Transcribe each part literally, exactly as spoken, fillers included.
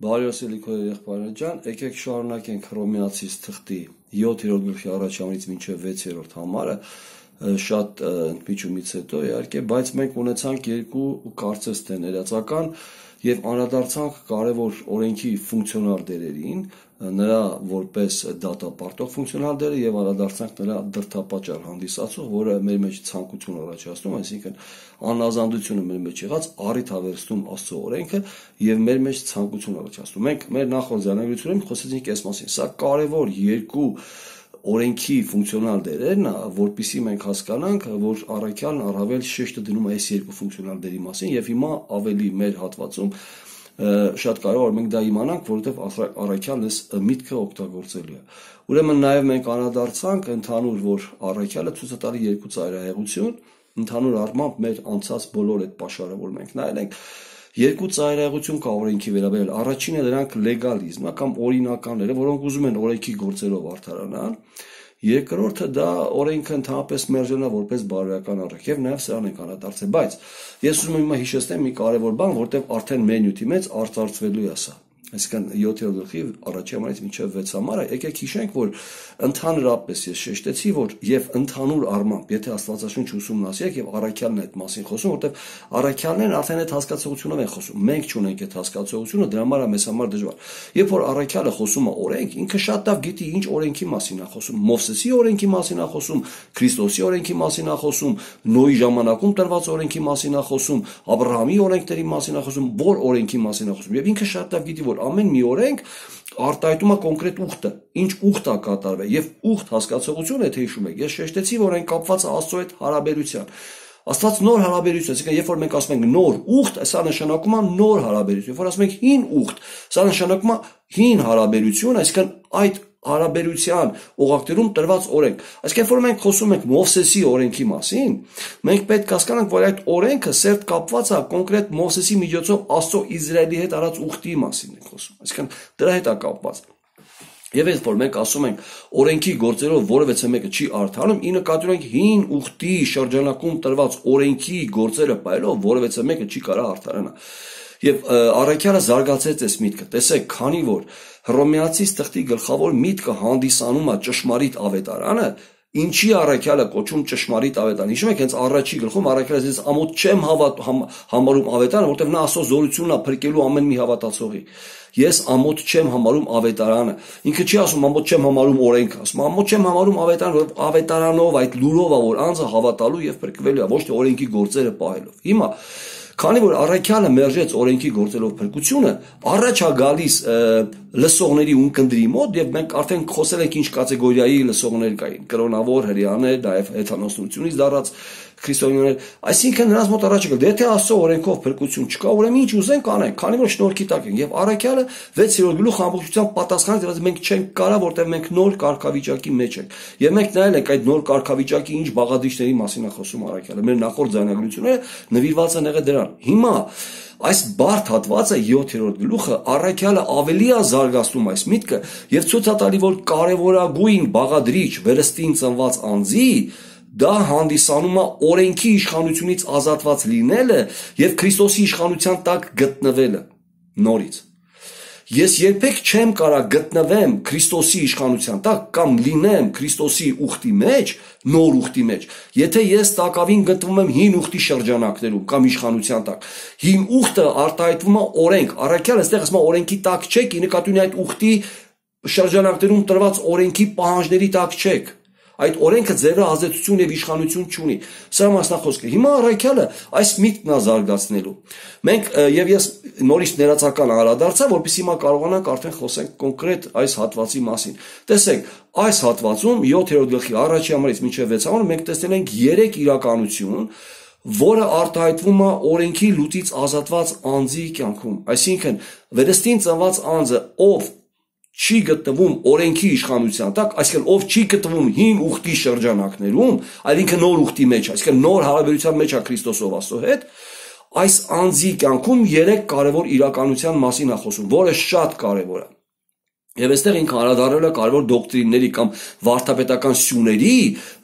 Բարյասելի քո եղբայր ջան, եկեք շարունակենք Հռոմեացիս թղթի յոթերորդ գլխի առաջամից մինչև վեցերորդ համարը, շատ ընդմիջումից հետո իհարկե, բայց մենք ունեցանք երկու կարծես թե ներածական եւ անդրադարձանք կարևոր օրենքի ֆունկցիոնալ դերերին, նրա որպես դատապարտող ֆունկցիոնալ դերը եւ անդրադարձանք նրա դրդապատճառ հանդիսացող, որը մեր մեջ ցանկություն առաջացնում, այսինքն անազանդությունը մեր մեջ եղած առիթ հավերստում Աստծո օրենքը եւ մեր մեջ ցանկություն առաջացնում։ Մենք մեր նախորդ զանազանությունում խոսեցինք այս մասին։ Սա կարևոր երկու օրենքի ֆունկցիոնալ դերերն է, որպեսզի մենք հասկանանք, որ առաքյալն առավել շեշտը դնում է այս երկու ֆունկցիոնալ դերի մասին եւ հիմա ավելի մեր հատվածում շատ կարևոր է մենք դա իմանանք, որովհետեւ առաքյալն այս միտքը օգտագործելու է։ Ուրեմն նաեւ մենք անդրադարձանք ընդհանուր, որ առաքյալը ցույց է տալի երկու ծայրահեղություն, ընդհանուր առմամբ մեր անցած բոլոր այդ պաշարը, որ մենք նայել ենք, երկու ծայրահեղություն կա օրենքի վերաբերյալ։ Առաջինը դրանք լեգալիզմը կամ օրինականները, որոնք ուզում են օրենքի գործերով արդարանան։ Երկրորդը դա օրենքը ընդհանրապես մերժելն է որպես բարոյական առիթ եւ նաեւ սրան ենք անդրադարձել, բայց ես ուզում եմ հիմա հիշեցնեմ մի կարևոր բան, որտեղ արդեն մեր նյութի մեջ արծարծվելու է սա։ Այսինքն յոթերորդ գլխի առաջի համարից մինչև վեց համարը, եկեք հիշենք, որ ընդհանրապես ես շեշտեցի, որ եւ ընդհանուր առմամբ, եթե Աստվածաշունչ ուսումնասիրեք եւ առաքյալն է այդ մասին խոսում, որտեղ առաքյալներն արդեն այդ հասկացությունով են խոսում։ Մենք չունենք այդ հասկացությունը, դրա համար է մեզ համար դժվար։ Երբ որ առաքյալը խոսում է օրենք, ինքը շատ լավ գիտի ինչ օրենքի մասին է խոսում։ Մովսեսի օրենքի մասին է խոսում, Քրիստոսի օրենքի մասին է խոսում, Նոյի ժամանակում տրված օրենքի մասին է խոսում, Աբրահամի օրենքների մասին է խոսում, որ օրենքի մասին է խոսում։ Եվ ինքը շատ լավ գիտի, որ ամեն մի օրենք արտահայտում է կոնկրետ ուխտը, ինչ ուխտ է կատարվել եւ ուխտ հասկացողությունը, եթե հիշում եք, ես շեշտեցի, որ այն կապված է Աստծո հետ հարաբերության։ Աստված նոր հարաբերություն, այսինքն երբ որ մենք ասում ենք նոր ուխտ, սա նշանակում է նոր հարաբերություն, երբ որ ասում ենք հին ուխտ, սա նշանակում է հին հարաբերություն, այսինքն այդ հարաբերության օղակներում տրված օրենք։ Այսինքն երբ որ մենք խոսում ենք Մովսեսի օրենքի մասին, մենք պետք է հասկանանք, որ այդ օրենքը սերտ կապված է կոնկրետ Մովսեսի միջոցով Աստծո Իսրայելի հետ արած ուխտի մասին ենք խոսում։ Այսինքն դրա հետ է կապված։ Եվ երբ որ մենք ասում ենք օրենքի գործերով որևէ մեկը չի արդարանում, ի նկատի ունենք հին ուխտի շրջանակում տրված օրենքի գործերը պայելով որևէ մեկը չի կարող արդարանալ։ Եվ առաքյալը զարգացեց այս միտքը։ Տեսեք, քանի որ Հռոմեացիս թղթի գլխավոր միտքը հանդիսանում է ճշմարիտ ավետարանը, ինչի առաքյալը կոչում ճշմարիտ ավետարան։ Հիշում եք, հենց առաջի գլխում առաքյալը ասեց ամոթ չեմ հավատ համարում ավետարանը, որտեղ նա Աստծո զորությունն է փրկելու ամեն մի հավատացողի։ Ես ամոթ չեմ համարում ավետարանը։ Ինքը չի ասում ամոթ չեմ համարում օրենքը, ասում ամոթ չեմ համարում ավետարանը, որովհետև ավետարանով այդ լուրով է, որ անձը հավատալու եւ փրկվելու է, ոչ թե օրենքի գործերը պահելով։ Հիմա քանի որ առաքյալը մերժեց օրենքի գործելով փրկությունը, առաջ է գալիս լսողների ունկնդրի մոտ եւ մենք արդեն խոսել ենք ինչ կատեգորիայի լսողներ կային՝ կրոնավոր հրեաներ, նաեւ հեթանոսությունից դառած քրիստոնյաներ, այսինքն նրանց մոտ առաջ եկել, եթե Աստծո օրենքով փրկություն չկա, ուրեմն ինչ ուզենք անենք, քանի որ շնորհքի տակ ենք եւ առաքյալը վեցերորդ գլուխ ամբողջությամբ պատասխանեց, որ մենք չենք կարա, որտեղ մենք նոր կարգավիճակի մեջ ենք։ Եվ մենք նայել ենք այդ նոր կարգավիճակի ինչ բաղադրիչների մասին է խոսում առաքյալը։ Մեր նախորդ զանազանությունները նվիրված են եղել դրան։ Հիմա այս բարդ հատվածը յոթերորդ գլուխը առաքյալը ավելի է զարգացնում այս միտքը եւ ցույց է տալի, որ կարեւորագույն բաղադրիչ վերստին ծնված անձի դա հանդիսանում է օրենքի իշխանությունից ազատված լինելը եւ Քրիստոսի իշխանության տակ գտնվելը նորից։ Ես երբեք չեմ կարա գտնվեմ Քրիստոսի իշխանության տակ կամ լինեմ Քրիստոսի ուխտի մեջ, նոր ուխտի մեջ, եթե ես տակավին գտնվում եմ հին ուխտի շրջանակներում կամ իշխանության տակ։ Հին ուխտը արտահայտվում է օրենք, առաքյալը այստեղ ասում է օրենքի տակ չեք, ի նկատի ունի այդ ուխտի շրջանակներում տրված օրենքի պահանջների տակ չեք։ Այդ օրենքը ձեր ազդեցություն եւ իշխանություն չունի։ Սա մասնախոսք է։ Հիմա առաքյալը այս միտքն է զարգացնելու։ Մենք եւ ես նորից ներածական անդրադարձա, որպեսզի հիմա կարողանանք արդեն խոսենք կոնկրետ այս հատվածի մասին։ Տեսեք, այս հատվածում յոթերորդ գլխի առաջի համարից մինչև վեց համարը մենք տեսնել ենք երեք իրականություն, որը արտահայտվում է օրենքի լուծից ազատված անձի կյանքում։ Այսինքն, վերստին ծնված անձը, ով չի գտնվում օրենքի իշխանության տակ, այսինքն ով չի գտնվում հին ուխտի շրջանակներում, այլ ինքը նոր ուխտի մեջ, այսինքն նոր հարաբերության մեջ է Քրիստոսով Աստծո հետ, այս անձի կյանքում երեք կարևոր իրականության մասին է խոսում, որը շատ կարևոր է։ Եվ այստեղ ինքը անդրադառնում է կարևոր դոկտրինների կամ վարդապետական սյուների,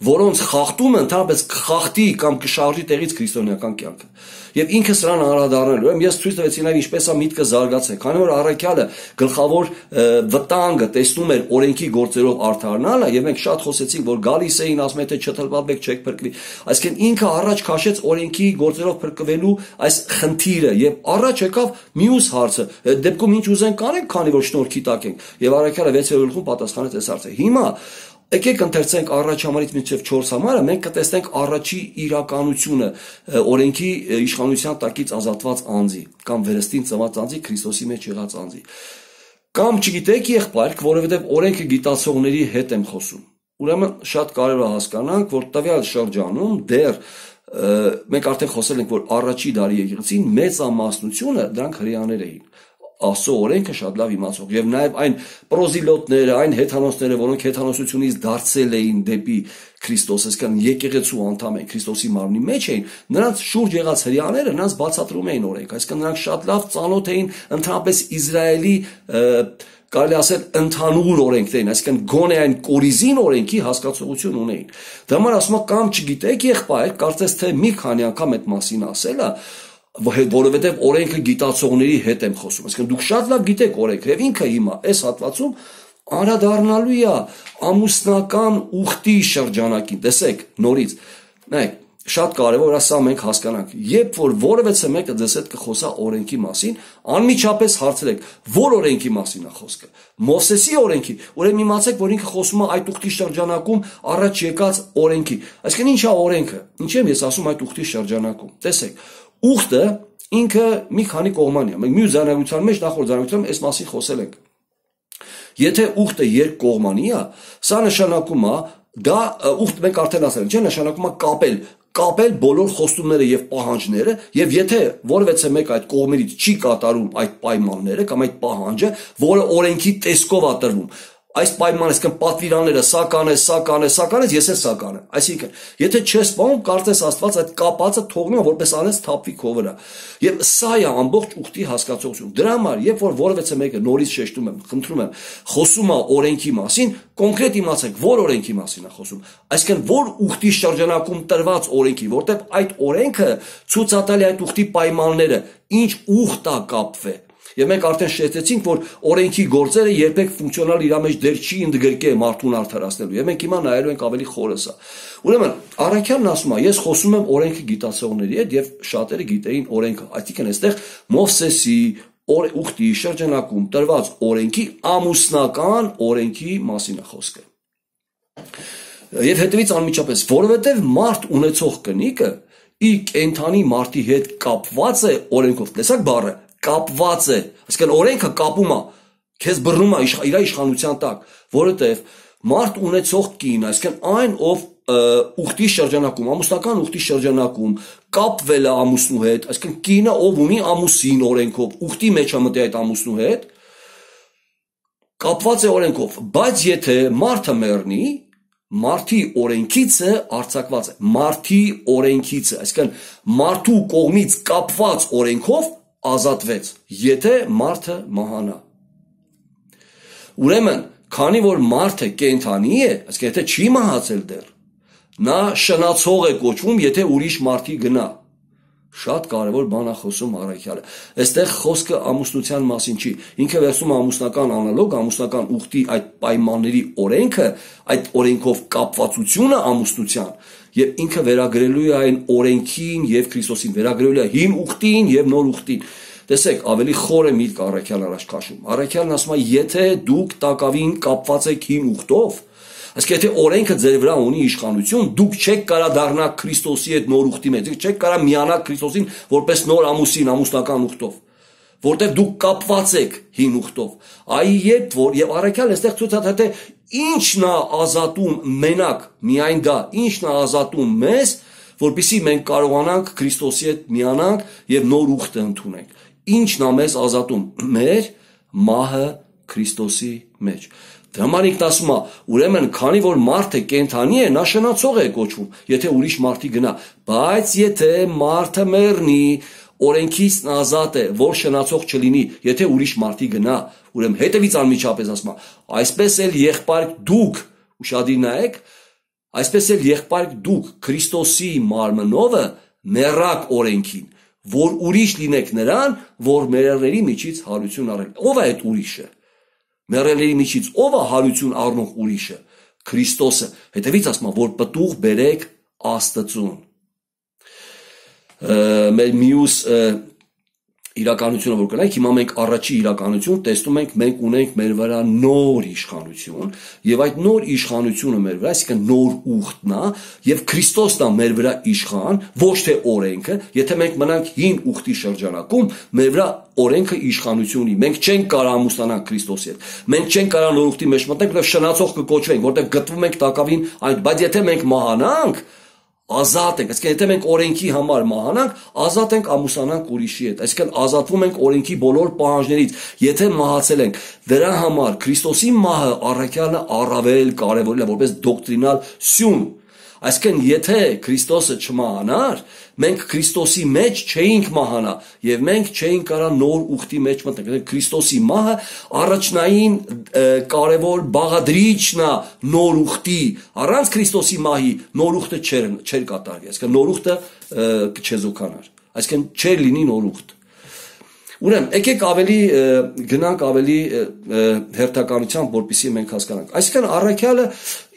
որոնց խախտումը ընդհանրապես կխախտի կամ կշարժի տեղից քրիստոնեական կյանքը։ եւ ինքը սրան անդրադառնալու։ Ուրեմն ես ցույց տվեցի նաեւ ինչպես է միտքը զարգացել, քանի որ առաքյալը գլխավոր վտանգը տեսնում էր օրենքի գործերով արդարնալը, եւ մենք շատ խոսեցինք, որ գալիս էին ասում թե չթլվաբեք չեք փրկվի, այսինքն ինքը առաջ քաշեց օրենքի գործերով փրկվելու այս խնդիրը եւ առաջ եկավ մյուս հարցը, դեպքում ինչ ուզենք անենք, քանի որ շնորհքի տակ ենք, եւ առաքյալը վեցերորդ գլխում պատասխանեց այս հարցը։ Հիմա եկեք ընթերցենք առաջ համարից մինչև չորս համարը, մենք կտեսնենք առաջի իրականությունը օրենքի իշխանության տակից ազատված անձի կամ վերստին ծնված անձի, Քրիստոսի մեջ եղած անձի։ Կամ չգիտեք եղբայրք, որովհետև օրենքը գիտացողների հետ եմ խոսում։ Ուրեմն շատ կարևոր է հասկանանք, որ տվյալ շրջանում դեռ մենք արդեն խոսել ենք, որ առաջի դարի եկեղեցին մեծամասնությունը դրանք հրեաներ էին։ Աստծո օրենքը շատ լավ իմացող եւ նաեւ այն պրոզիլոտները, այն հեթանոսները, որոնք հեթանոսությունից դարձել էին դեպի Քրիստոս, այսինքն եկեղեցու անդամ են, Քրիստոսի մարմնի մեջ էին, նրանց շուրջ եղած հրեաները նրանց բացատրում էին օրենք, այսինքն նրանք շատ լավ ծանոթ էին ընդհանրապես Իսրայելի կարելի ասել ընդհանուր օրենքներին, այսինքն գոնե այն կորիզին օրենքի հասկացողություն ունեին։ Դա համար ասում եմ կամ չգիտեք եղբայր, կարծես թե մի քանի անգամ այդ մասին ասելը, որովհետև օրենքը գիտացողների հետ եմ խոսում, այսինքն դուք շատ լավ գիտեք օրենքը, եւ ինքը հիմա այս հատվածում անդրադառնալու է ամուսնական ուխտի շրջանակին։ Տեսեք, նորից, նայեք, շատ կարևոր է սա մենք հասկանանք։ Երբ որ որևէ մեկը ձեզ հետ կխոսա օրենքի մասին, անմիջապես հարցրեք, որ օրենքի մասին է խոսքը։ Մովսեսի օրենքի, ուրեմն իմացեք, որ ինքը խոսում է այդ ուխտի շրջանակում առաջ եկած օրենքի։ Այսինքն ի՞նչ է օրենքը։ Ինչ եմ ես ասում այդ ուխտի շրջանակում։ Տեսեք, ուխտը ինքը մի քանի կողմանի է։ Մենք մյուս ձայնագրության մեջ նախորդ ձայնագրությամբ այս մասին խոսել ենք։ Եթե ուխտը երկկողմանի է, սա նշանակում է, դա ուխտ մենք արդեն ասել ենք, չէ՞, նշանակում է կապել, կապել բոլոր խոստումները եւ պահանջները, եւ եթե որևէ մեկ այդ կողմերից չի կատարում այդ պայմանները կամ այդ պահանջը, որը օրենքի տեսքով է տրվում, այս պայմանը, այսինքն պատվիրանները սա կանես, սա կանես, սա կանես, ես էլ սա կանեմ։ Այսինքն, եթե չես պահում, կարծես Աստված այդ կապածը թողնում է, որպես անես թափվի քո վրա։ Եվ սա է ամբողջ ուխտի հասկացողությունը։ Դրա համար, երբ որ որևէ մեկը նորից շեշտում եմ, խնդրում եմ, խոսում է օրենքի մասին, կոնկրետ իմացեք, որ օրենքի մասին է խոսում։ Այսինքն, որ ուխտի շրջանակում տրված օրենքի, որտեղ այդ օրենքը ցույց է տալի այդ ուխտի պայմանները, ինչ ուխտ է կապվել։ Եվ մենք արդեն շեշտեցինք, որ օրենքի գործերը երբեք ֆունկցիոնալ իր մեջ դեր չի ընդգրկե մարդուն արդարացնելու։ Եվ մենք հիմա նայելու ենք ավելի խորը։ Ուրեմն, առաքյալն ասում է, ես խոսում եմ օրենքը գիտացողների հետ եւ շատերը գիտեին օրենքը։ Այսինքն, այստեղ Մովսեսի ուխտի շրջանակում տրված օրենքի ամուսնական օրենքի մասին է խոսքը։ Եվ հետևից անմիջապես, որովհետեւ մարդ ունեցող կնիկը իր կենթանի մարդի հետ կապված է օրենքով։ Տեսակ բառը կապված է, այսինքն օրենքը կապում է, քեզ բռնում է իր իշխանության տակ, որովհետև մարդ ունեցող կին, այսինքն այն, ով ուխտի շրջանակում, ամուսնական ուխտի շրջանակում կապվել է ամուսնու հետ, այսինքն կինը, ով ունի ամուսին օրենքով, ուխտի մեջ է մտի այդ ամուսնու հետ, կապված է օրենքով, բայց եթե մարդը մեռնի, մարդի օրենքիցը արձակված է, մարդի օրենքիցը, այսինքն մարդու կողմից կապված օրենքով ազատվեց, եթե մարդը մահանա։ Ուրեմն, քանի որ մարդը կենդանի է, այսինքն եթե չի մահացել դեռ, նա շնացող է կոչվում, եթե ուրիշ մարդի գնա։ Շատ կարևոր բան է խոսում առաքյալը։ Այստեղ խոսքը ամուսնության մասին չի։ Ինքը վերցնում է ամուսնական անալոգ, ամուսնական ուխտի այդ պայմանների օրենքը, այդ օրենքով կապվածությունը ամուսնության, եւ ինքը վերագրելու է այն օրենքին եւ Քրիստոսին, վերագրելու է հին ուխտին եւ նոր ուխտին։ Տեսեք, ավելի խորը միտք առաքյալն առաջ քաշում։ Առաքյալն ասում է, եթե դուք տակավին կապված եք հին ուխտով, այսինքն եթե օրենքը ձեր վրա ունի իշխանություն, դուք չեք կարա դառնալ Քրիստոսի հետ նոր ուխտի մեջ, չեք կարա միանալ Քրիստոսին որպես նոր ամուսին, ամուսնական ուխտով, որտեղ դուք կապված եք հին ուխտով։ Այ երբ որ եւ առաքյալը այստեղ ցույց է տալի, ինչն է ազատում մենակ, միայն դա, ինչն է ազատում մեզ, որպեսզի մենք կարողանանք Քրիստոսի հետ միանանք եւ նոր ուխտը ընդունենք։ Ինչն է մեզ ազատում, մեր մահը Քրիստոսի մեջ։ Դրա համար ինքն ասում է, ուրեմն քանի որ մարդը կենդանի է, նա շնացող է կոչվում, եթե ուրիշ մարդի գնա, բայց եթե մարդը մեռնի, օրենքից ազատ է, որ շնացող չլինի, եթե ուրիշ մարդի գնա, ուրեմն հետևից անմիջապես ասում է, այսպես էլ եղբայրք դուք, ուշադիր նայեք, այսպես էլ եղբայրք դուք Քրիստոսի մարմնովը մեռաք օրենքին, որ ուրիշ լինեք նրան, որ մեռելների միջից հարություն առել։ Ո՞վ է այդ ուրիշը։ Մեռելների միջից ո՞վ է հարություն առնող ուրիշը։ Քրիստոսը։ Հետևից ասում է, որ պտուղ բերեք Աստծուն։ Մեր մյուս իրականությունը որ կնայք, հիմա մենք առաջի իրականություն տեսնում ենք, մենք ունենք մեր վրա նոր իշխանություն, եւ այդ նոր իշխանությունը մեր վրա, այսինքն նոր ուխտն է, եւ Քրիստոսն է մեր վրա իշխան, ոչ թե օրենքը, եթե մենք մնանք հին ուխտի շրջանակում, մեր վրա օրենքը իշխանություն ունի, մենք չենք կարող ամուսնանալ Քրիստոսի հետ, մենք չենք կարող նոր ուխտի մեջ մտնենք, որովհետեւ շնացող կկոչվենք, որովհետեւ գտնվում ենք տակավին այն, բայց եթե մենք մահանանք, ազատ ենք, այսինքն եթե մենք օրենքի համար մահանանք, ազատ ենք ամուսնանանք ուրիշի հետ, այսինքն ազատվում ենք օրենքի բոլոր պահանջներից, եթե մահացել ենք, դրա համար Քրիստոսի մահը առաքյալը առավել կարևորել է որպես դոկտրինալ սյուն, այսինքն եթե Քրիստոսը չմահանար, մենք Քրիստոսի մեջ չէինք մահանա եւ մենք չէինք կարող նոր ուխտի մեջ մտնենք, Քրիստոսի մահը առաջնային կարևոր բաղադրիչն է նոր ուխտի, առանց Քրիստոսի մահի նոր ուխտը չէր չէր կատարվի, այսինքն նոր ուխտը կչեզոքանար, այսինքն չէր լինի նոր ուխտ։ Ուրեմն, եկեք ավելի գնանք ավելի հերթականությամբ, որպեսզի մենք հասկանանք։ Այսինքն առաքյալը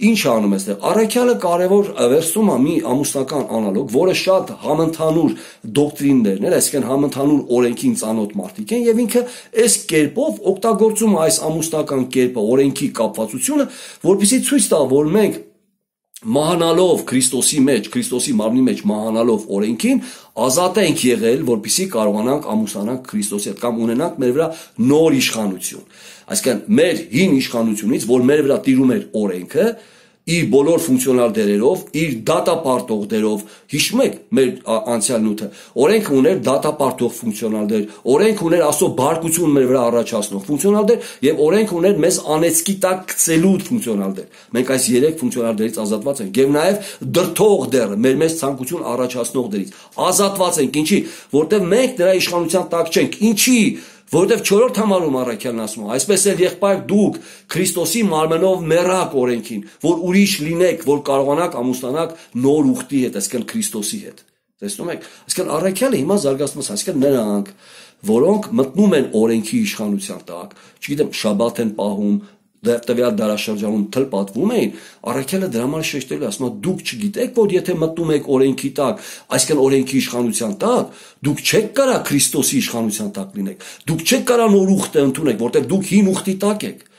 ինչ անում է այստեղ։ Առաքյալը կարևոր վերցնում է մի ամուսնական անալոգ, որը շատ համընդհանուր դոկտրիններն են, այսինքն համընդհանուր օրենքին ծանոթ մարդիկ են, եւ ինքը այս կերպով օգտագործում է այս ամուսնական կերպը, օրենքի կապվածությունը, որպեսզի ցույց տա, որ մենք մահանալով Քրիստոսի մեջ, Քրիստոսի մարմնի մեջ մահանալով օրենքին, ազատ ենք եղել, որպեսզի կարողանանք ամուսնանանք Քրիստոսի հետ կամ ունենանք մեր վրա նոր իշխանություն։ Այսինքն մեր հին իշխանությունից, որ մեր վրա տիրում էր օրենքը, իր բոլոր ֆունկցիոնալ դերերով, իր դատապարտող դերով, հիշում եք մեր անցյալ նյութը, օրենքը ուներ դատապարտող ֆունկցիոնալ դեր, օրենքը ուներ աստծո բարկություն մեր վրա առաջացնող ֆունկցիոնալ դեր եւ օրենքը ուներ մեզ անեծքի տակ գցելու ֆունկցիոնալ դեր։ Մենք այս երեք ֆունկցիոնալ դերից ազատված ենք եւ նաեւ դրթող դերը, մեր մեզ ցանկություն առաջացնող դերից ազատված ենք, ինչի, որտեղ մենք դրա իշխանության տակ չենք, ինչի որովհետև չորրորդ համարում առաքյալն ասում է, այսպես էլ եղբայր դուք Քրիստոսի մարմնով մեռաք օրենքին, որ ուրիշ լինեք, որ կարողանաք ամուսնանաք նոր ուխտի հետ, այսինքն Քրիստոսի հետ։ Տեսնում եք, այսինքն առաքյալը հիմա զարգացնում է, այսինքն նրանք, որոնք մտնում են օրենքի իշխանության տակ, չգիտեմ, շաբաթ են պահում, տվյալ դարաշրջանում թլպատվում էին, առաքյալը դրա համար շեշտելու է, ասում է, դուք չգիտեք, որ եթե մտնում եք օրենքի տակ, այսինքն օրենքի իշխանության տակ, դուք չեք կարող Քրիստոսի իշխանության տակ լինեք, դուք չեք կարող նոր ուխտը ընդունել, որտեղ դուք հին ուխտի տակ եք։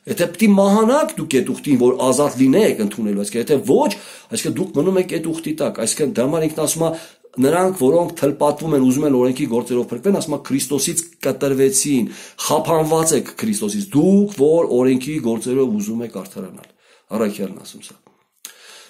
Եթե պետք է մահանաք դուք այդ ուխտին, որ ազատ լինեք ընդունելու, այսինքն եթե ոչ, այսինքն դուք մնում եք այդ ուխտի տակ, այսինքն դա համար ինքն ասում է նրանք, որոնք թլպատվում են, ուզում են օրենքի գործերով փրկվեն, ասում է Քրիստոսից կտրվեցին, խափանված եք Քրիստոսից, դուք որ օրենքի գործերով ուզում եք արդարանալ։ Առաքյալն ասում սա։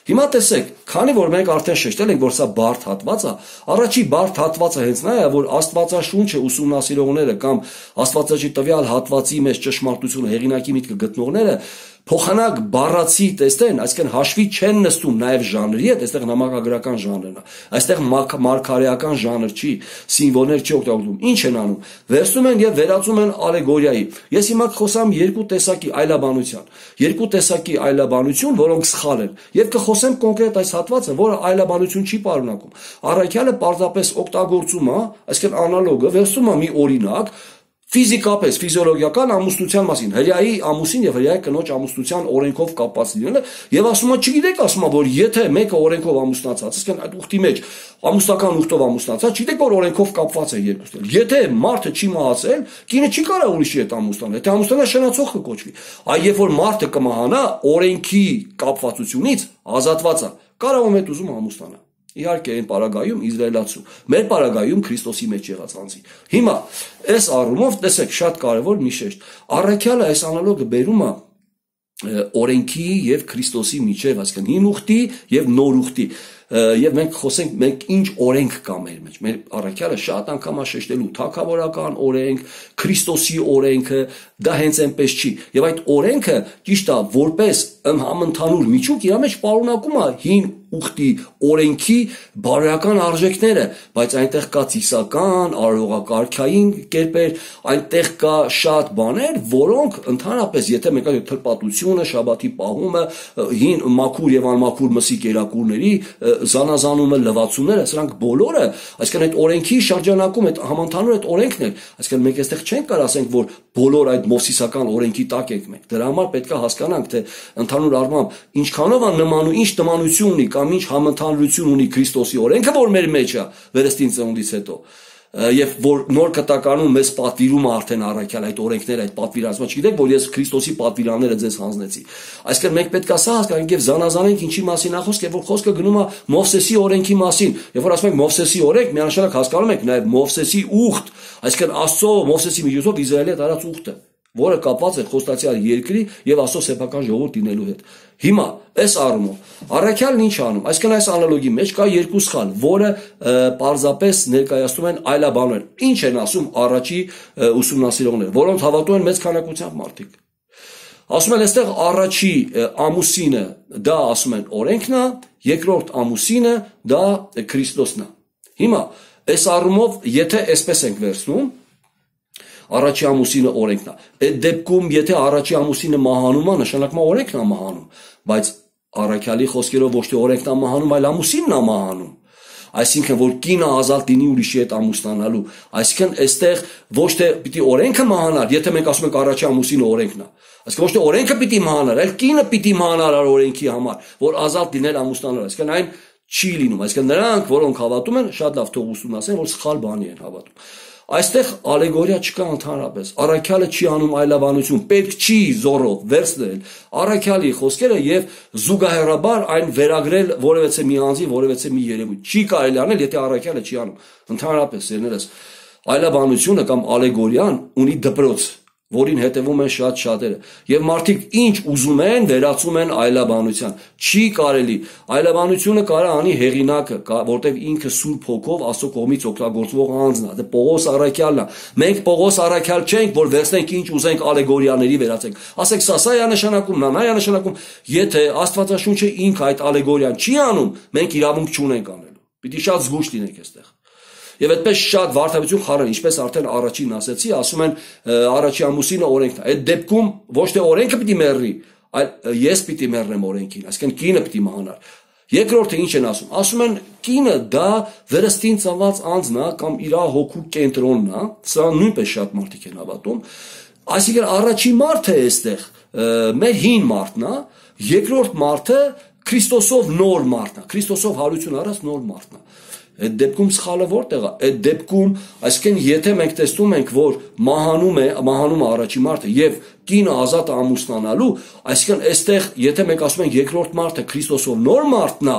Հիմա տեսեք, քանի որ մենք արդեն շեշտել ենք, որ սա բարդ հատված է, առաջի բարդ հատվածը հենց նա է, որ Աստվածաշունչը ուսումնասիրողները կամ Աստվածաշունչի տվյալ հատվածի մեջ ճշմարտությունը, հեղինակի միտքը գտնողները փոխանակ բառացի տեսնեն, այսինքն հաշվի չեն նստում նաև ժանրի հետ, այստեղ նամակագրական ժանրն է, այստեղ մարգարեական ժանր չի, սիմվոլներ չի օգտագործում, ինչ են անում, վերցնում են եւ վերածում են ալեգորիայի։ Ես հիմա կխոսամ երկու տեսակի այլաբանության, երկու տեսակի այլաբանություն, որոնք սխալ են, եւ կխոսեմ կոնկրետ այս հատվածը, որը այլաբանություն չի պարունակում։ Առաքյալը պարզապես օգտագործում է, այսինքն անալոգը վերցնում է մի օրինակ, ֆիզիկապես, ֆիզիոլոգիական ամուսնության մասին, հրեայի ամուսին եւ հրեայի կնոջ ամուսնության օրենքով կապված լինելը, եւ ասում է, չգիտեք, ասում է, որ եթե մեկը օրենքով ամուսնացած, այսինքն այդ ուխտի մեջ ամուսնական ուխտով ամուսնացած, չգիտեք, որ օրենքով կապված է երկուսն։ Եթե մարդը չի մահացել, կինը չի կարող ուրիշի հետ ամուսնանալ, եթե ամուսնանա շնացող կկոչվի։ Այ երբ որ մարդը կմահանա, օրենքի կապվածությունից ազատված է, կարող է ուզում ամուսնանալ։ Իհարկե այն պարագայում իզրայելացու, մեր պարագայում Քրիստոսի մեջ եղած անձի։ Հիմա այս առումով տեսեք շատ կարևոր մի շեշտ։ Առաքյալը այս անալոգը բերում է օրենքի եւ Քրիստոսի միջեւ, այսինքն հին ուխտի եւ նոր ուխտի։ Եվ մենք խոսենք, մենք ինչ օրենք կա մեր մեջ։ Մեր առաքյալը շատ անգամ շեշտելու թագավորական օրենք, Քրիստոսի օրենքը, դա հենց այնպես չի։ Եվ այդ օրենքը ճիշտ է, որպես համընդհանուր միջուկ իր մեջ պարունակում է հին ուխտի օրենքի բարոյական արժեքները, բայց այնտեղ կա ծիսական, արարողակարգային կերպեր, այնտեղ կա շատ բաներ, որոնք ընդհանրապես, եթե մենք ասենք թլպատությունը, շաբաթի պահումը, հին մաքուր եւ անմաքուր մսի կերակուրների զանազանումը, լվացումները, սրանք բոլորը, այսինքն այդ օրենքի շրջանակում այդ համընդհանուր այդ օրենքն է, այսինքն մենք այստեղ չենք կարող ասենք, որ բոլոր այդ մովսիսական օրենքի տակ ենք մենք։ Դրա համար պետք է հասկանանք, թե ընդհանուր առմամբ ինչքանով է նման ու ինչ նմանություն ունի կամ ինչ համընդհանուրություն ունի Քրիստոսի օրենքը, որ մեր մեջ է վերստին ծնունդից հետո։ Եվ որ նոր կտականում մեզ պատվիրում է արդեն առաքյալ այդ օրենքները, այդ պատվիրանացումը, չգիտեք, որ ես Քրիստոսի պատվիրանները ձեզ հանձնեցի։ Այսինքն մենք պետք է սա հասկանանք եւ զանազանենք ինչի մասին է խոսքը, որ խոսքը գնում է Մովսեսի օրենքի մասին։ Երբ որ ասում ենք Մովսեսի օրենք, միանշանակ հասկանում ենք նաեւ Մովսեսի ուխտ, այսինքն Աստծո Մովսեսի միջոցով Իսրայելի հետ արած ուխտը, որը կապված է խոստացյալ երկրի եւ Աստծո սեփական ժողովուրդ դինելու հետ։ Հիմա այս առումով առաքյալն ինչ անում, այսինքն այս անալոգի մեջ կա երկու սխալ, որը պարզապես ներկայացնում են այլաբաններ։ Ինչ են ասում առաջի ուսումնասիրողները, որոնց հավատում են մեծ քանակությամբ մարդիկ։ Ասում են այստեղ առաջի ամուսինը դա ասում են օրենքն է, երկրորդ ամուսինը դա Քրիստոսն է։ Հիմա այս առումով եթե այսպես ենք վերցնում, առաջի ամուսինը օրենքն է։ Այդ դեպքում եթե առաջի ամուսինը մահանում է, նշանակում է օրենքն է մահանում, բայց առաքյալի խոսքերով ոչ թե օրենքն է մահանում, այլ ամուսինն է մահանում։ Այսինքն որ կինը ազատ լինի ուրիշի հետ ամուսնանալու, այսինքն այստեղ ոչ թե պիտի օրենքը մահանար, եթե մենք ասում ենք առաջի ամուսինը օրենքն է, այսինքն ոչ թե օրենքը պիտի մահանար, այլ կինը պիտի մահանար օրենքի համար, որ ազատ լինել ամուսնանալու, այսինքն այն չի լինում, այսինքն նրանք, որոնք հավատում են, շատ լավ թող ուսումնասիրեն, որ սխալ բանի են հավատում։ Այստեղ ալեգորիա չկա ընդհանրապես, առաքյալը չի անում այլաբանություն, պետք չի զորով վերցնել առաքյալի խոսքերը եւ զուգահեռաբար այն վերագրել որևէ մի անձի, որևէ մի երևույթ։ Չի կարելի անել, եթե առաքյալը չի անում։ Ընդհանրապես, երներս, այլաբանությունը կամ ալեգորիան ունի դպրոց, որին հետևում են շատ շատերը, եւ մարդիկ ինչ ուզում են վերածում են այլաբանության։ Չի կարելի, այլաբանությունը կարա անի հեղինակը, որտեղ ինքը Սուրբ Հոգով Աստծո կողմից օգտագործվող անձն է, դա Պողոս առաքյալն է։ Մենք Պողոս առաքյալ չենք, որ վերցնենք ինչ ուզենք ալեգորիաների վերածենք։ Ասենք սա սա է նշանակում, նա նա է նշանակում, եթե Աստվածաշունչը ինքը այդ ալեգորիան չի անում, մենք իրավունք չունենք անելու։ Պիտի շատ զգուշ լինենք այստեղ։ Եվ այդպես շատ վարդապետություն խառն, ինչպես արդեն առաջին ասեցի, ասում են առաջի ամուսինը օրենքն է։ Այդ դեպքում ոչ թե օրենքը պիտի մեռնի, այլ ես պիտի մեռնեմ օրենքին, այսինքն կինը պիտի մահանար։ Երկրորդը ինչ են ասում։ Ասում են կինը դա վերստին ծնված անձն է կամ իր հոգու կենտրոնն է, սա նույնպես շատ մարդիկ են հավատում։ Այսինքն առաջի մարդը է այստեղ մեր հին մարդն է, երկրորդ մարդը Քրիստոսով նոր մարդն է, Քրիստոսով հարություն առած նոր մարդն է։ Այդ դեպքում սխալը որտեղ է։ Այդ դեպքում, այսինքն եթե մենք տեսնում ենք, որ մահանում է, մահանում է առաջի մարդը եւ կինը ազատ է ամուսնանալու, այսինքն այստեղ եթե մենք ասում ենք երկրորդ մարդը Քրիստոսով նոր մարդն է,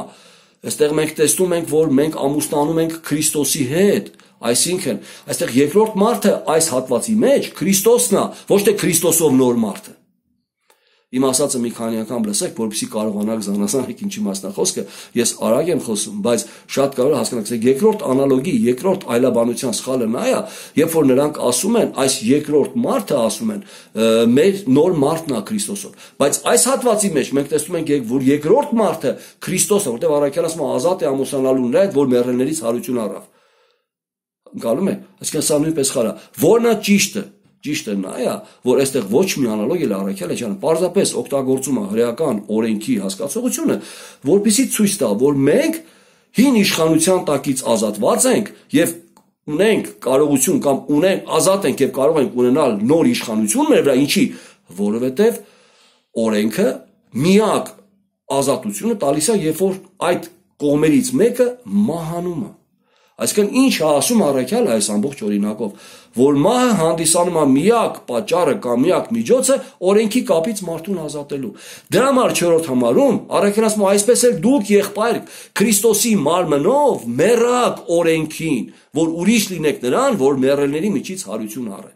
այստեղ մենք տեսնում ենք, որ մենք ամուսնանում ենք Քրիստոսի հետ։ Այսինքն, այստեղ երկրորդ մարդը այս հատվածի մեջ Քրիստոսն է, ոչ թե Քրիստոսով նոր մարդը։ Իմ ասածը մի քանի անգամ լսեք, որպեսզի կարողանաք զանազանեք ինչի մասն է խոսքը, ես արագ եմ խոսում, բայց շատ կարող հասկանաք, թե երկրորդ անալոգի, երկրորդ այլաբանության սխալը նա է, երբ որ նրանք ասում են, այս երկրորդ մարդը ասում են, մեր նոր մարդն է Քրիստոսով, բայց այս հատվածի մեջ մենք տեսնում ենք, որ երկրորդ մարդը Քրիստոսն է, որտեղ առաքյալը ասում է ազատ է ամուսնանալու նրա հետ, որ մեռելներից հարություն առավ։ Գալու՞մ է, այսինքն սա նույնպես խարա, որն է ճիշտը։ Ճիշտը նա է, որ այստեղ ոչ մի անալոգ էլ առաքյալը չան, պարզապես օգտագործում է հրեական օրենքի հասկացողությունը, որպեսզի ցույց տա, որ մենք հին իշխանության տակից ազատված ենք եւ ունենք կարողություն կամ ունենք ազատ ենք եւ կարող ենք ունենալ նոր իշխանություն մեր վրա, ինչի, որովհետեւ օրենքը միակ ազատությունը տալիս է, երբ որ այդ կողմերից մեկը մահանում է։ Այսինքն ինչ է ասում առաքյալը այս ամբողջ օրինակով, որ մահը հանդիսանում է միակ պատճառը կամ միակ միջոցը օրենքի կապից մարդուն ազատելու։ Դրա համար չորրորդ համարում առաքյալը ասում է այսպես էլ դուք եղբայր Քրիստոսի մարմնով մեռաք օրենքին, որ ուրիշ լինեք նրան, որ մեռելների միջից հարություն առե։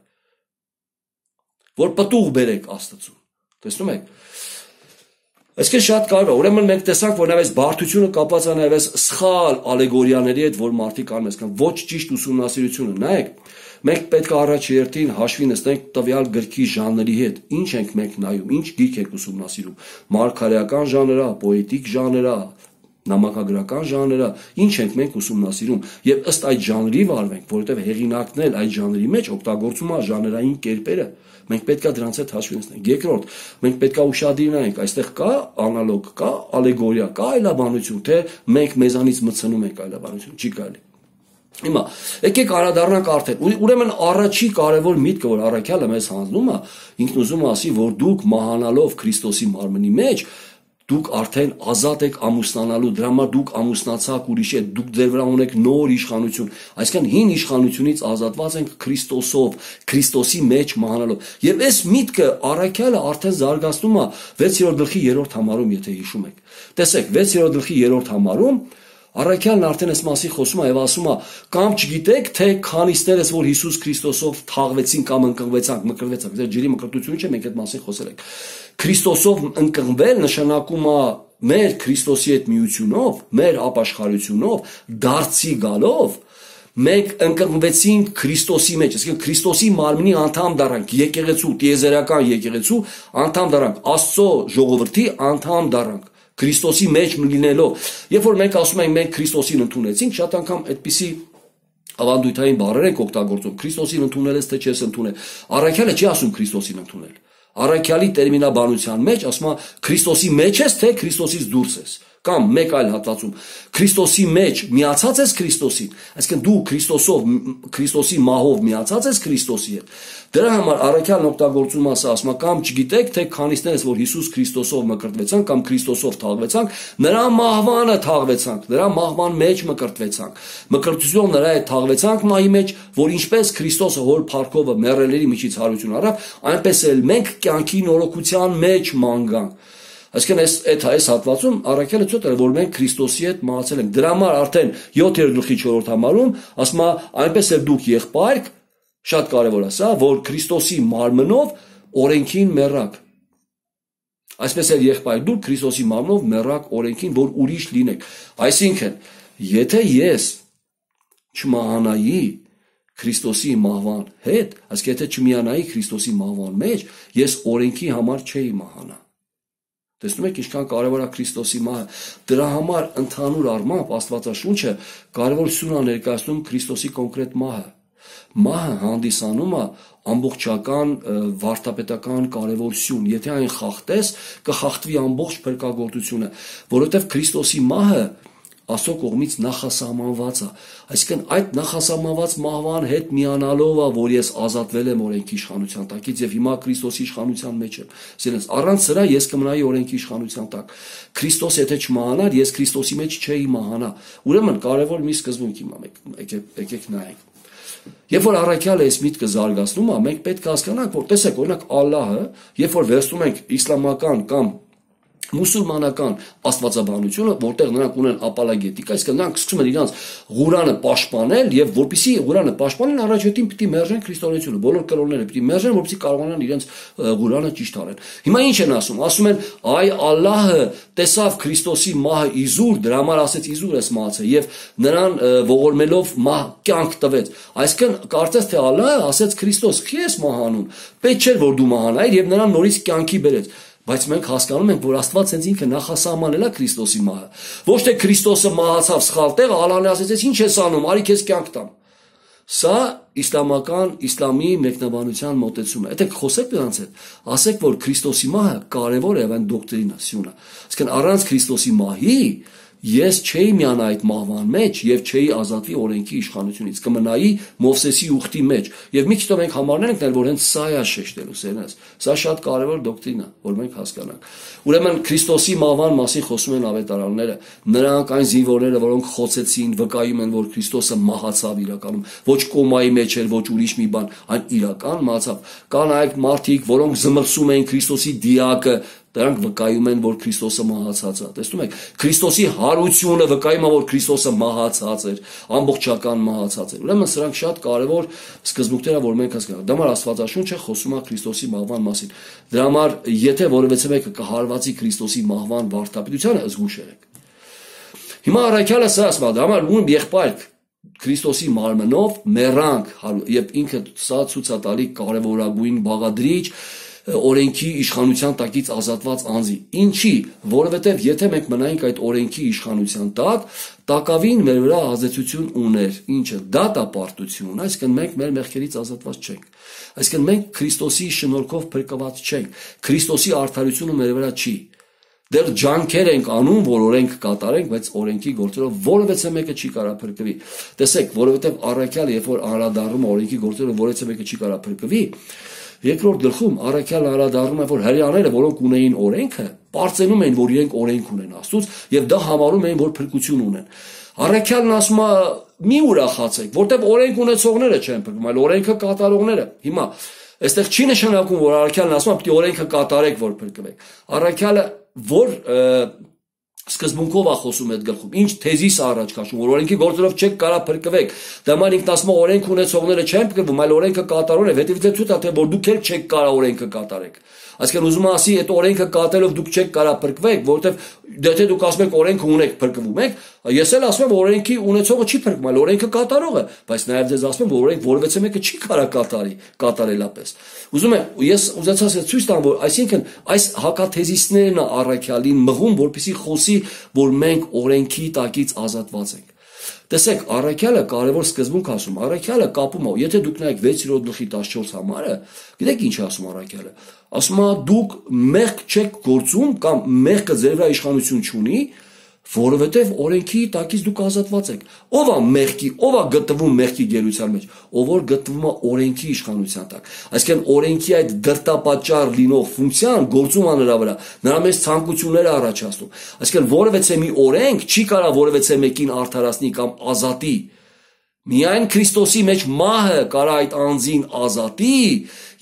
Որ պտուղ բերեք Աստծուն։ Տեսնում եք։ Այսինքն շատ կարևոր է, ուրեմն մենք տեսանք, որ նաև բարդությունը կապված է նաև սխալ ալեգորիաների հետ, որ մարդիկ անում են, ոչ ճիշտ ուսումնասիրությունը։ Նայեք, մենք պետք է առաջերտին հաշվի նստենք տվյալ գրքի ժանրի հետ։ Ինչ ենք մենք նայում, ինչ գիրք ենք ուսումնասիրում։ Մարգարեական ժանրա, պոետիկ ժանրա, նամակագրական ժանրը, ինչ ենք մենք ուսումնասիրում եւ ըստ այդ ժանրի վարվենք, որովհետեւ հեղինակն էլ այդ ժանրի մեջ օգտագործում է ժանրային կերպերը, մենք պետքա դրանց հետ հաշվի ունենանք։ Երկրորդ, մենք պետքա ուշադիր լինենք, այստեղ կա անալոգ, կա ալեգորիա, կա այլաբանություն, թե մենք մեզանից մտցնում ենք այլաբանություն, չի կարելի։ Հիմա եկեք անդրադառնանք արդեն, ուրեմն առաջի կարևոր միտքը, որ առաքյալը մեզ հանձնում է, ինքն ուզում է ասի, որ դուք մահանալով Քրիստոսի մարմնի մեջ դուք արդեն ազատ եք ամուսնանալու, դրա համար դուք ամուսնացաք ուրիշ հետ, դուք ձեր վրա ունեք նոր իշխանություն, այսինքն հին իշխանությունից ազատված ենք Քրիստոսով, Քրիստոսի մեջ մահանալով։ Եվ այս միտքը առաքյալը արդեն զարգացնում է վեցերորդ գլխի երրորդ համարում, եթե հիշում եք։ Տեսեք, վեցերորդ գլխի երրորդ համարում առաքյալն արդեն այս մասին խոսում է եւ ասում է. կամ չգիտեք, թե քանիստերս, որ Հիսուս Քրիստոսով թաղվեցին կամ ընկղվեցանք, մկրվեցանք, ձեր ջրի մկրտությունը չէ, մենք այդ մասին խոսել ենք։ Քրիստոսով ընկղվել նշանակում է մեր Քրիստոսի հետ միությունով, մեր ապաշխարությունով, դարձի գալով մենք ընկղմվեցինք Քրիստոսի մեջ, այսինքն Քրիստոսի մարմնի անդամ դառանք, եկեղեցու, տիեզերական եկեղեցու անդամ դառանք, Աստծո ժողովրդի անդամ դառանք, Քրիստոսի մեջ լինելով։ Երբ որ մենք ասում ենք մենք Քրիստոսին ընդունեցինք, շատ անգամ այդպիսի ավանդույթային բառեր ենք օգտագործում, Քրիստոսին ընդունել ես, թե չես ընդունել։ Առաքյալը չի ասում Քրիստոսին ընդունել։ Առաքյալի տերմինաբանության մեջ ասում է Քրիստոսի մեջ ես, թե Քրիստոսից դուրս ես։ Կամ մեկ այլ հատվածում Քրիստոսի մեջ միացած ես Քրիստոսին, այսինքն դու Քրիստոսով, Քրիստոսի մահով միացած ես Քրիստոսի հետ։ Դրա համար առաքյալն օգտագործում ասա, ասում է կամ չգիտեք, թե քանիստերս, որ Հիսուս Քրիստոսով մկրտվեցանք կամ Քրիստոսով թաղվեցանք, նրա մահվանը թաղվեցանք, նրա մահվան մեջ մկրտվեցանք։ Մկրտությունով նրա հետ թաղվեցանք մահի մեջ, որ ինչպես Քրիստոսը հոր փառքովը մեռելների միջից հարություն առավ, այնպես էլ մենք կյանքի նորոգության մեջ մանգանք։ Այսինքն այս այդ այս հատվածում առաքյալը ցույց տալու որ մենք Քրիստոսի հետ մահացել ենք։ Դրա համար արդեն յոթերորդ գլխի չորրորդ համարում ասում է այնպես էլ դուք եղբայրք, շատ կարևոր է սա, որ Քրիստոսի մարմնով օրենքին մեռաք։ Այսպես էլ եղբայր դուք Քրիստոսի մարմնով մեռաք օրենքին, որ ուրիշ լինեք։ Այսինքն, եթե ես չմահանայի Քրիստոսի մահվան հետ, այսինքն եթե չմիանայի Քրիստոսի մահվան մեջ, ես օրենքի համար չէի մահանա։ Տեսնում եք ինչքան կարևոր է Քրիստոսի մահը։ Դրա համար ընդհանուր առմամբ Աստվածաշունչը կարևորություն է ներկայացնում Քրիստոսի կոնկրետ մահը։ Մահը հանդիսանում է ամբողջական վարդապետական կարևորություն։ Եթե այն խախտես, կխախտվի ամբողջ փրկagorտությունը, որովհետև Քրիստոսի մահը Աստծո կողմից նախասահմանված է։ Այսինքն այդ նախասահմանված մահվան հետ միանալով է, որ ես ազատվել եմ օրենքի իշխանության տակից եւ հիմա Քրիստոսի իշխանության մեջ եմ։ Ասես առանց սրա ես կմնայի օրենքի իշխանության տակ։ Քրիստոս եթե չմահանար, ես Քրիստոսի մեջ չէի մահանա։ Ուրեմն կարևոր մի սկզբունք հիմա եկեք եկեք նայենք։ Երբ որ առաքյալը այս միտքը զարգացնում է, մենք պետք է հասկանանք, որ տեսեք, օրինակ Ալլահը, երբ որ վերցնում ենք իսլամական կամ մուսուլմանական աստվածաբանությունը, որտեղ նրանք ունեն ապոլոգետիկա, այսինքն նրանք սկսում են իրենց Ղուրանը պաշտպանել եւ որպեսզի Ղուրանը պաշտպանեն, առաջին պիտի մերժեն քրիստոնեությունը, բոլոր կրոնները պիտի մերժեն, որպեսզի կարողանան իրենց Ղուրանը ճիշտ արեն։ Հիմա ինչ են ասում։ Ասում են, այ Ալլահը տեսավ Քրիստոսի մահը իզուր, դրա համար ասեց իզուր ես մահացել եւ նրան ողորմելով մահ կյանք տվեց։ Այսինքն կարծես թե Ալլահը ասեց Քրիստոս, «Քի ես մահանում»։ Պետք չէր որ դու մահանայիր եւ նրան նորից կյանքի բերեց։ Բայց մենք հասկանում ենք, որ Աստված հենց ինքը նախասահմանել է Քրիստոսի մահը։ Ոչ թե Քրիստոսը մահացավ սխալ տեղ, Ալլահն ասեց, ինչ ես անում, արի քեզ կյանք տամ։ Սա իսլամական իսլամի մեկնաբանության մոտեցում է։ Եթե խոսեք նրանց հետ, ասեք, որ Քրիստոսի մահը կարևոր է այն դոկտրինա, սյունը։ Այսինքն առանց Քրիստոսի մահի ես չէի միանա այդ մահվան մեջ եւ չէի ազատվի օրենքի իշխանությունից, կմնայի Մովսեսի ուխտի մեջ։ Եվ մի քիչ તો մենք համարներ ենք, որ հենց սա է շեշտելու սերնես։ Սա շատ կարևոր դոկտրին է, որ մենք հասկանանք։ Ուրեմն Քրիստոսի մահվան մասին խոսում են ավետարանները, նրանք այն զինվորները, որոնք խոցեցին, վկայում են, որ Քրիստոսը մահացավ իրականում, ոչ կոմայի մեջ էր, ոչ ուրիշ մի բան, այն իրական մահացավ։ Կան այլ մարդիկ, որոնք զմռսում էին Քրիստոսի դիակը, դրանք վկայում են, որ Քրիստոսը մահացած է։ Տեսնում եք, Քրիստոսի հարությունը վկայում է, որ Քրիստոսը մահացած էր, ամբողջական մահացած էր։ Ուրեմն սրանք շատ կարևոր սկզբունքներ են, որ մենք հասկանանք։ Դա համար Աստվածաշունչը խոսում է Քրիստոսի մահվան մասին։ Դրա համար, եթե որևէ մեկը կհարվածի Քրիստոսի մահվան վարդապետությանը, զգուշ եղեք։ Հիմա առաքյալը սա ասում է, դա համար ում եղբայր Քրիստոսի մարմնով մեռանք, եւ ինքը սա ցույց է տալի կարևորագույն բաղադրիչ, օրենքի իշխանության տակից ազատված անձի։ Ինչի, որովհետև եթե մենք մնայինք այդ օրենքի իշխանության տակ, տակավին մեր վրա ազդեցություն ուներ, ինչը դատապարտություն, այսինքն մենք մեր մեղքերից ազատված չենք։ Այսինքն մենք Քրիստոսի շնորհքով փրկված չենք։ Քրիստոսի արդարությունը մեր վրա չի։ Դեռ ջանքեր ենք անում, որ օրենք կատարենք, բայց օրենքի գործերով որևէ մեկը չի կարող փրկվի։ Տեսեք, որովհետև առաքյալը, երբ որ անդրադառնում է օրենքի գործերով, որևէ մեկը չի կարող փրկվի, երկրորդ գլխում առաքյալը անդրադառնում է, որ հрьяաները, որոնք ունեին օրենքը, պարծենում էին, որ իրենք օրենք ունեն Աստծուց, եւ դա համարում էին, որ փրկություն ունեն։ Առաքյալն ասում է՝ մի ուրախացեք, որտեղ օրենք ունեցողները չեն փրկվում, այլ օրենքը կատարողները։ Հիմա այստեղ չի նշանակում, որ առաքյալն ասում է, պետք է օրենքը կատարեք, որ փրկվեք։ Առաքյալը որ սկզբունքով է խոսում այդ գլխում, ինչ թեզիս է առաջ քաշում, որ օրենքի գործերով չեք կարող փրկվեք։ Դա ման ինքն ասում է օրենք ունեցողները չեն փրկվում, այլ օրենքը կատարողն է, հետևից ցույց է թե որ դուք էլ չեք կարող օրենքը կատարեք։ Այսինքն ուզում եմ ասի, այդ օրենքը կատարելով դուք չեք կարող փրկվեք, որովհետև եթե դուք ասում եք օրենքը ունեք, փրկվում եք, ես էլ ասում եմ օրենքի ունեցողը չի փրկվում, այլ օրենքը կատարողը, բայց նաև ձեզ ասում եմ, որ օրենք որևէ մեկը չի կարող կատարի, կատարելապես։ Ուզում եմ, ես ուզեցած եմ ցույց տամ, որ այսինքն այս հակաթեզիսներն է առաքյալին մղում, որպեսզի խոսի, որ մենք օրենքի տակից ազատված ենք։ Տեսեք, առաքյալը կարևոր սկզբունք ասում, առաքյալը կապում է, եթե դուք նայեք վեցերորդ գլխի տասնչորս համարը, գիտեք ինչ ասում առաքյալը։ Ասում է դուք մեղք չեք գործում կամ մեղքը ձեր վրա իշխանություն չունի, որովհետև օրենքի տակից դուք ազատված եք։ Ով է մեղքի, ով է գտնվում մեղքի գերության մեջ, ով որ գտնվում է օրենքի իշխանության տակ։ Այսինքն օրենքի այդ դրտապատճառ լինող ֆունկցիան գործում է նրա վրա, նրա մեջ ցանկությունները առաջացնում։ Այսինքն որևէ մի օրենք չի կարող որևէ մեկին արդարացնի կամ ազատի։ Միայն Քրիստոսի մեջ մահը կարա այդ անձին ազատի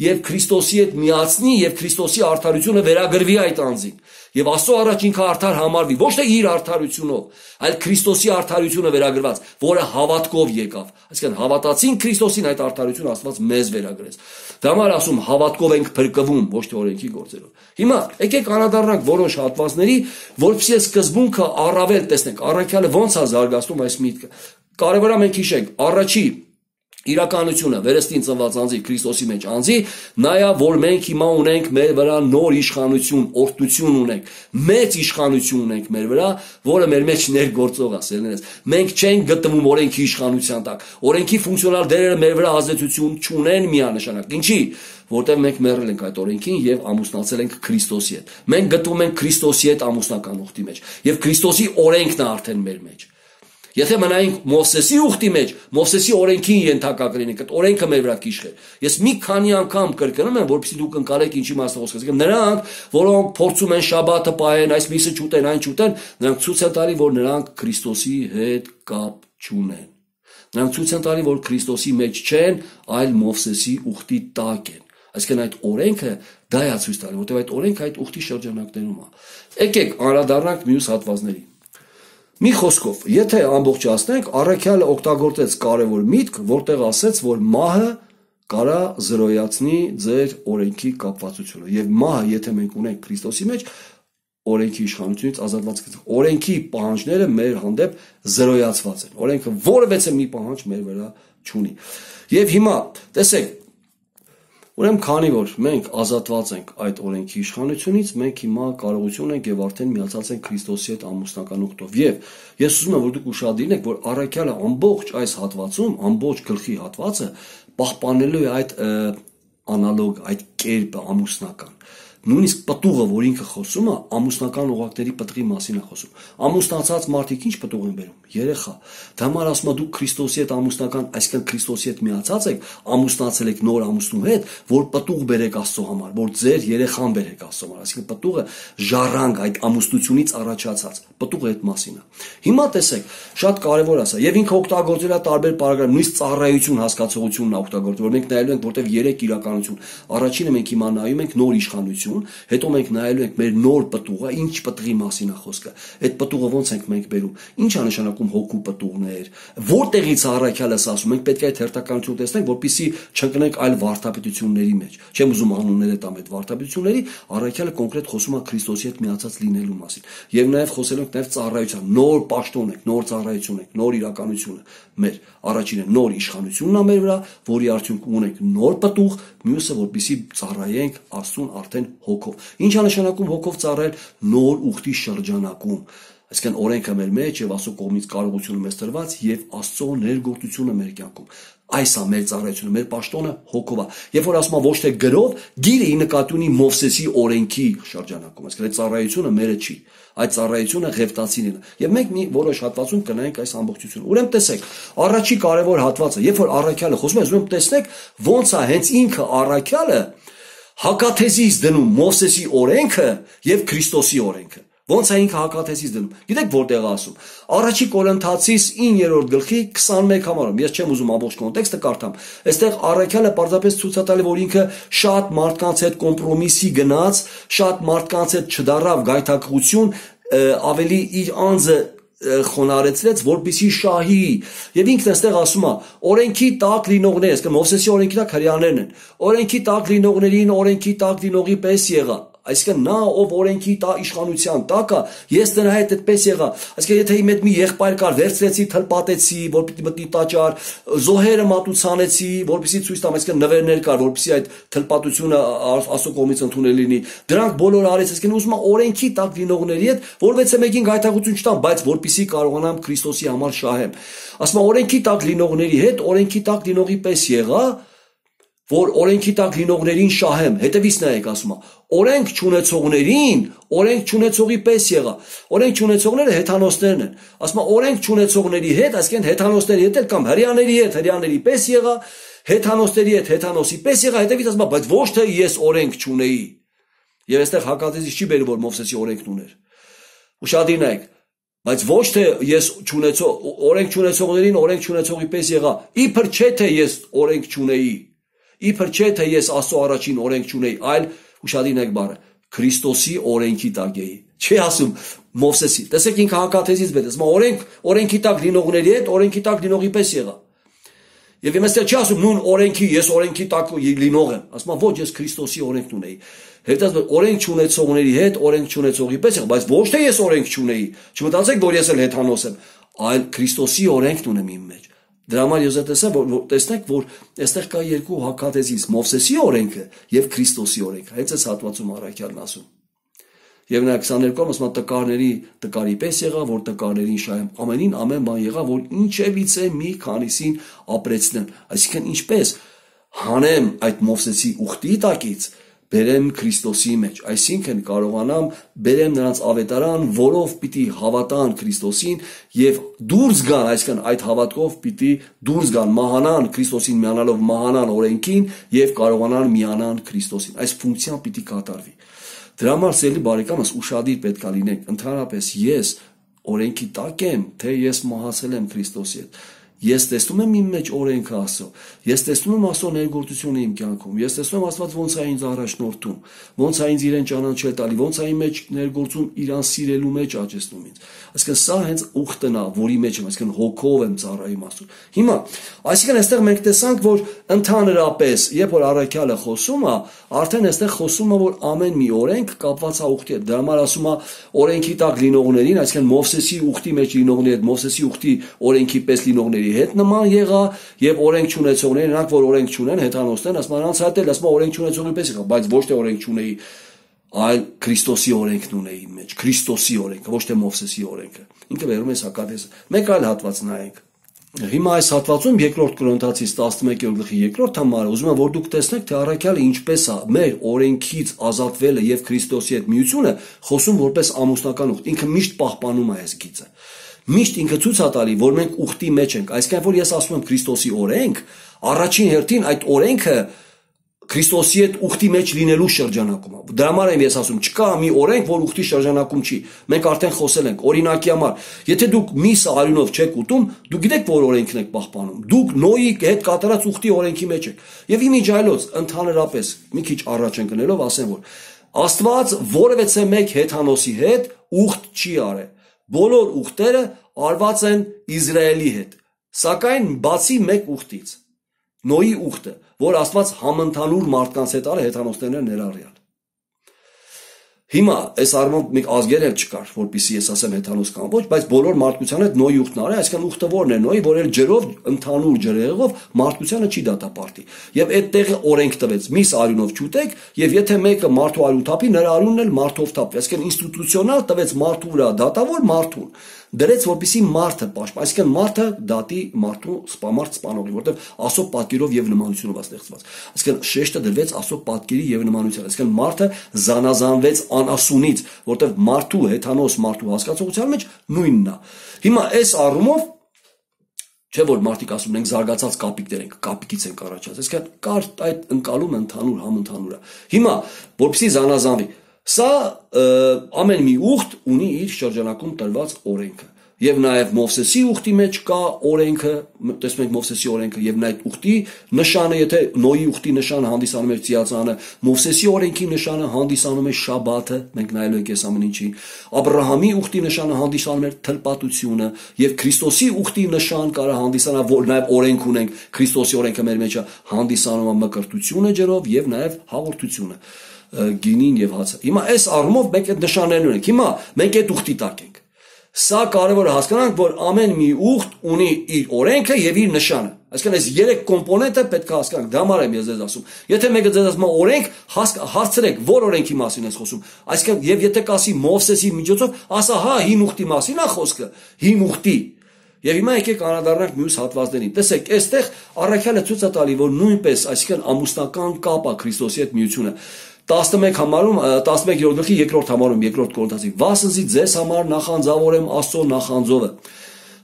եւ Քրիստոսի հետ միացնի եւ Քրիստոսի արդարությունը վերագրվի այդ անձին։ Եվ Աստծո առաջ ինքը արդար համարվի, ոչ թե իր արդարությունով, այլ Քրիստոսի արդարությունը վերագրված, որը հավատքով եկավ։ Այսինքն հավատացին Քրիստոսին, այդ արդարությունը Աստված մեզ վերագրեց։ Դա համար ասում հավատքով ենք փրկվում, ոչ թե օրենքի գործերով։ Հիմա եկեք անդրադառնանք որոշ հատվածների, որովհետեւ սկզբունքը առավել տեսնենք, առաքյալը ոնց է զարգացնում այս միտքը։ Կարևոր է մենք հիշենք, առաջի իրականությունը վերստին ծնված անձի Քրիստոսի մեջ անձի, նայա որ մենք հիմա ունենք մեր վրա նոր իշխանություն, օրհնություն ունենք, մեծ իշխանություն ունենք մեր վրա, որը մեր մեջ ներգործող է, սերներս։ Մենք չենք գտնվում օրենքի իշխանության տակ։ Օրենքի ֆունկցիոնալ դերերը մեր վրա ազդեցություն չունեն միանշանակ։ Ինչի՞, որտեղ մենք մեռել ենք այդ օրենքին եւ ամուսնացել ենք Քրիստոսի հետ։ Մենք գտնվում ենք Քրիստոսի հետ ամուսնական ուխտի մեջ եւ Քրիստոսի օրենքն է արդեն մեր մեջ։ Եթե մնայինք Մովսեսի ուխտի մեջ, Մովսեսի օրենքին ենթակա կլինենք, այդ օրենքը մեր վրա կիշխեր։ Ես մի քանի անգամ կրկնում եմ, որպեսզի դուք ընկալեք ինչի մասը խոսքը։ Այսինքն նրանք, որոնք փորձում են շաբաթը պահեն, այս միսը չուտեն, այն չուտեն, նրանք ցույց են տալի, որ նրանք Քրիստոսի հետ կապ չունեն։ Նրանք ցույց են տալի, որ Քրիստոսի մեջ չեն, այլ Մովսեսի ուխտի տակ են։ Այսինքն այդ օրենքը դա է ցույց տալի, որտեղ այդ օրենքը այդ ուխտի շրջանակներում է։ Եկեք անդրադառնանք մյուս հատվածներին։ Մի խոսքով, եթե ամբողջացնենք, առաքյալը օգտագործեց կարևոր միտք, որտեղ ասեց, որ մահը կարա զրոյացնի ձեր օրենքի կապվածությունը։ Եվ մահը, եթե մենք ունենք Քրիստոսի մեջ, օրենքի իշխանությունից ազատված ենք։ Օրենքի պահանջները մեր հանդեպ զրոյացված են։ Օրենքը որևէ մի պահանջ մեր վրա չունի։ Եվ հիմա, տեսեք, ուրեմն քանի որ մենք ազատված ենք այդ օրենքի իշխանությունից, մենք հիմա կարողություն ենք եւ արդեն միացած ենք Քրիստոսի հետ ամուսնական ուխտով։ Եվ ես ուզում եմ որ դուք ուշադիր եք, որ առաքյալը ամբողջ այս հատվածում, ամբողջ գլխի հատվածը պահպանելու է այդ անալոգ, այդ կերպը ամուսնական։ Նույնիսկ պտուղը, որ ինքը խոսում է, ամուսնական օղակների պտղի մասին է խոսում։ Ամուսնացած մարդիկ ինչ պտուղ են բերում։ Երեխա։ Դա համար ասում է դուք Քրիստոսի հետ ամուսնական, այսինքն Քրիստոսի հետ միացած եք, ամուսնացել եք նոր ամուսնու հետ, որ պտուղ բերեք Աստծո համար, որ ձեր երեխան բերեք Աստծո համար։ Այսինքն պտուղը ժառանգ այդ ամուսնությունից առաջացած։ Պտուղը այդ մասին է։ Հիմա տեսեք, շատ կարևոր է սա։ Եվ ինքը օգտագործել է տարբեր բառեր, նույնիսկ ծառայություն հասկացողությունն է օգտագործել, որ մենք նայելու ենք, որտեղ երեք իրականություն։ Առաջինը մենք հիմա նայում ենք նոր իշխանություն իշխանություն, հետո մենք նայելու ենք մեր նոր պտուղը, ինչ պտղի մասին է խոսքը։ Այդ պտուղը ոնց ենք մենք բերում։ Ինչ է նշանակում հոգու պտուղներ։ Որտեղից առաքյալը ասում, մենք պետք է այդ հերթականություն տեսնենք, որպեսզի չընկնենք այլ վարդապետությունների մեջ։ Չեմ ուզում անունները տամ այդ վարդապետությունների, առաքյալը կոնկրետ խոսում է Քրիստոսի հետ միացած լինելու մասին։ Եվ նաև խոսելու ենք նաև ծառայության, նոր պաշտոն ենք, նոր ծառայություն ենք, նոր իրականությունը մեր առաջինը նոր իշխանությունն է մեր վրա, որի արդյունքում ունենք նոր պտուղ, մյուսը որպեսզի ծառայենք Աստծուն արդեն հոգով։ Ինչ է նշանակում հոգով ծառայել։ Նոր ուխտի շրջանակում, այսինքն օրենքը մեր մեջ եւ Աստծո կողմից կարողությունը մեզ տրված եւ Աստծո ներգործությունը մեր կյանքում։ Այս է մեր ծառայությունը, մեր պաշտոնը հոգով է։ Երբ որ ասում եմ ոչ թե գրով, գիրը ի նկատի ունի Մովսեսի օրենքի շրջանակում, այսինքն այդ ծառայությունը մերը չի։ Այդ ծառայությունը Ղևտացիներն է։ Եվ մենք մի որոշ հատվածում կնայենք այս ամբողջությունը։ Ուրեմն տեսեք, առաջի կարևոր հատվածը, երբ որ առաքյալը խոսում է, ուրեմն տեսնեք ոնց է հենց ինքը առաքյալը հակաթեզից դնում Մովսեսի օրենքը եւ Քրիստոսի օրենքը։ Ոնց է ինքը հակաթեզից դնում։ Գիտեք որտեղ ասում։ Առաջի Կորինթացիս իններորդ գլխի քսանմեկ համարում։ Ես չեմ ուզում ամբողջ կոնտեքստը կարդամ։ Այստեղ առաքյալը պարզապես ցույց է տալի, որ ինքը շատ մարդկանց հետ կոմպրոմիսի գնաց, շատ մարդկանց հետ չդարավ գայթակղություն, ավելի իր անձը խոնարեցրեց, որպեսի շահի։ Եվ ինքն այստեղ ասում է, օրենքի տակ լինողներ, այսինքն Մովսեսի օրենքի տակ հրեաներն են։ Օրենքի տակ լինողներին օրենքի տակ լինողի պես եղա։ Այսինքն նա ով օրենքի տա իշխանության տակ է, ես նրա հետ այդպես եղա։ Այսինքն եթե իմ հետ մի եղբայր կար, վերցրեցի, թլպատեցի, որ պիտի մտնի տաճար, զոհերը մատուցանեցի, որպեսզի ցույց տամ, այսինքն նվերներ կար, որպեսզի այդ թլպատությունը Աստծո կողմից ընդունել լինի։ Դրանք բոլորը արեց, այսինքն ուզում է օրենքի տակ լինողների հետ, որովհետեւ մեկին գայթակղություն չտամ, բայց որպեսզի կարողանամ Քրիստոսի համար շահեմ։ Ասում է օրենքի տակ լինողների հետ, օրենքի տակ լինողի պես եղա, որ օրենքի տակ լինողներին շահեմ։ Հետևից նայեք, ասում է, օրենք չունեցողներին, օրենք չունեցողի պես եղա։ Օրենք չունեցողները հեթանոսներն են։ Ասում է, օրենք չունեցողների հետ, այսինքն հեթանոսների հետ կամ հրեաների հետ հրեաների պես եղա, հեթանոսների հետ հեթանոսի պես եղա, հետևից ասում է, բայց ոչ թե ես օրենք չունեի։ Եվ այստեղ հակատեզից չի բերում, որ Մովսեսի օրենքն ուներ։ Ուշադիր նայեք, բայց ոչ թե ես չունեցող, օրենք չունեցողներին օրենք չունեցողի պես եղա, իբր չէ թե ես օրենք չունեի։ Իբր չէ թե ես Աստծո առաջին օրենք չունեի, այլ ուշադիր եք բառը, Քրիստոսի օրենքի տակ էի։ Չի ասում Մովսեսի։ Տեսեք ինքը հակաթեզից բերեց, ասում օրենք, օրենքի տակ լինողների հետ, օրենքի տակ լինողի պես եղա։ Եվ իմաստը չի ասում նույն օրենքի, ես օրենքի տակ լինող եմ։ Ասում ոչ, ես Քրիստոսի օրենքն ունեի։ Հետո օրենք չունեցողների հետ, օրենք չունեցողի պես եղա, բայց ոչ թե ես օրենք չունեի։ Չմտածեք, որ ես էլ հեթանոս եմ, այլ Քրիստոսի օրենքն ունեմ իմ մեջ։ Դրա համար ես տեսա, որ տեսնեք, որ այստեղ կա երկու հակատեզից՝ Մովսեսի օրենքը եւ Քրիստոսի օրենքը։ Հենց այս հատվածում առաքյալն ասում։ Եվ նա քսաներկում ասում է տկարների տկարի պես եղա, որ տկարներին շահեմ։ Ամենին ամեն բան եղա, որ ինչևիցե մի քանիսին ապրեցնեմ։ Այսինքն ինչպես հանեմ այդ Մովսեսի ուխտի տակից, բերեմ Քրիստոսի մեջ, այսինքն կարողանամ բերեմ նրանց ավետարան, որով պիտի հավատան Քրիստոսին եւ դուրս գան, այսինքն այդ հավատքով պիտի դուրս գան, մահանան Քրիստոսին միանալով մահանան օրենքին եւ կարողանան միանան Քրիստոսին։ Այս ֆունկցիան պիտի կատարվի։ Դրա համար սիրելի բարեկամս ուշադիր պետք է լինենք, ընդհանրապես ես օրենքի տակ եմ, թե ես մահացել եմ Քրիստոսի հետ։ Ես տեսնում եմ իմ մեջ օրենքը Աստծո։ Ես տեսնում եմ Աստծո ներգործությունը իմ կյանքում։ Ես տեսնում եմ Աստված ոնց է ինձ առաջնորդում, ոնց է ինձ իրեն ճանաչել տալի, ոնց է իմ մեջ ներգործում, իրան սիրելու մեջ աճեցնում ինձ։ Այսինքն սա հենց ուխտն է, որի մեջ եմ, այսինքն հոգով եմ ծառայում Աստծուն։ Հիմա, այսինքն այստեղ մենք տեսանք, որ ընդհանրապես, երբ որ առաքյալը խոսում է, արդեն այստեղ խոսում է, որ ամեն մի օրենք կապված է ուխտի հետ։ Դրա համար ասում է օրենքի տակ լինողներին, այսինքն Մովսեսի ուխտի մեջ լինողների հետ, Մովսեսի ուխտի օրենքի պես լինողների հետ նման եղա եւ օրենք չունեցողները, նրանք որ օրենք չունեն, հեթանոսներն, ասում են նրանց հետ էլ ասում օրենք չունեցողի պես եղա, բայց ոչ թե օրենք չունեի, այլ Քրիստոսի օրենքն ունեի իմ մեջ, Քրիստոսի օրենքը, ոչ թե Մովսեսի օրենքը։ Ինքը վերում է հակատեզը։ Մեկ այլ հատված նայենք։ Հիմա այս հատվածում երկրորդ Կորինթացիս տասնմեկերորդ գլխի երկրորդ համարը ուզում եմ որ դուք տեսնեք թե առաքյալը ինչպես է մեր օրենքից ազատվելը եւ Քրիստոսի հետ միությունը խոսում որպես ամուսնական ուխտ։ Ինքը միշտ պահպանում է այս գիծը։ Միշտ ինքը ցույց է տալի, որ մենք ուխտի մեջ ենք, այսինքն որ ես ասում եմ Քրիստոսի օրենք, առաջին հերթին այդ օրենքը Քրիստոսի հետ ուխտի մեջ լինելու շրջանակում է։ Դրա համար եմ ես ասում, չկա մի օրենք, որ ուխտի շրջանակում չի։ Մենք արդեն խոսել ենք, օրինակի համար, եթե դուք միսը արյունով չեք ուտում, դուք գիտեք, որ օրենքն եք պահպանում։ Դուք Նոյի հետ կատարած ուխտի օրենքի մեջ եք։ Եվ իմիջայլոց ընդհանրապես մի քիչ առաջ ենք գնելով ասեմ, որ Աստված որևէ մեկ հեթանոսի հետ ուխտ չի արել։ Բոլոր ուխտերը արված են Իսրայելի հետ։ Սակայն բացի մեկ ուխտից, Նոյի ուխտը, որ Աստված համընդհանուր մարդկանց հետ արել, հեթանոսներն ներառյալ։ Հիմա այս առումով մեկ ազգեր էլ չկար, որպեսզի ես ասեմ հեթանոս կամ ոչ, բայց բոլոր մարդկության հետ Նոյի ուխտն արել, այսինքն ուխտը որն է Նոյի, որ էլ ջրով, ընդհանուր ջրեղով մարդկությանը չի դատապարտի։ Եվ այդ տեղը օրենք տվեց՝ միս արյունով չուտեք, եւ եթե մեկը մարդու արյուն թափի, նրա արյունն էլ մարդով թափվի։ Այսինքն ինստիտուցիոնալ տվեց մարդու վրա դատավոր մարդուն, դրեց որպեսզի մարդը պաշտպանի, այսինքն մարդը դատի մարդու սպամարտ սպանողի, որտեղ Աստծո պատկերով եւ նմանությունով է ստեղծված։ Այսինքն շեշտը դրվեց Աստծո պատկերի եւ նմանության, այսինքն մարդը զանազանվեց անասունից, որտեղ մարդու հեթանոս մարդու հասկացողության մեջ նույնն է։ Հիմա այս առումով չէ որ մարդիկ ասում են զարգացած կապիկներ ենք, կապիկից ենք առաջացած, այսինքն կար այդ ընկալում ընդհանուր համընդհանուր է։ Հիմա որպեսզի զանազանվի, սա ամեն մի ուխտ ունի իր շրջանակում տրված օրենքը։ Եվ նաև Մովսեսի ուխտի մեջ կա օրենքը, տեսնում ենք Մովսեսի օրենքը, եւ նաև ուխտի նշանը, եթե Նոյի ուխտի նշանը հանդիսանում էր ծիածանը, Մովսեսի օրենքի նշանը հանդիսանում է շաբաթը, մենք նայելու ենք այս ամեն ինչի, Աբրահամի ուխտի նշանը հանդիսանում էր թլպատությունը, եւ Քրիստոսի ուխտի նշան կարա հանդիսանա, որ նաև օրենք ունենք, Քրիստոսի օրենքը մեր մեջ է, հանդիսանում է մկրտությունը ջրով եւ նաև հաղորդությունը, գինին եւ հացը։ Հիմա այս առումով մենք այդ նշաններն ունենք։ Հիմա մենք այդ ուխտի տակ ենք։ Սա կարևոր է հասկանանք, որ ամեն մի ուխտ ունի իր օրենքը եւ իր նշանը։ Այսինքն այս երեք կոմպոնենտը պետք է հասկանանք։ Դա համար եմ ես ձեզ ասում։ Եթե մեկը ձեզ ասում է օրենք, հարցրեք, որ օրենքի մասին ես խոսում։ Այսինքն եւ եթե կասի Մովսեսի միջոցով, ասա, հա, հին ուխտի մասին է խոսքը, հին ուխտի։ Եվ հիմա եկեք անդրադառնանք մյուս հատվածներին։ Տեսեք, այստեղ առաքյալը ցույց է տալի, որ նույնպես, այսինքն ամուսնական կապ է Քրիստոսի հետ միությունը։ տասնմեկ համարում տասնմեկ-րդ գլխի երկրորդ համարում երկրորդ Կորինթացի վասնզի ձեզ համար նախանձավոր եմ Աստծո նախանձովը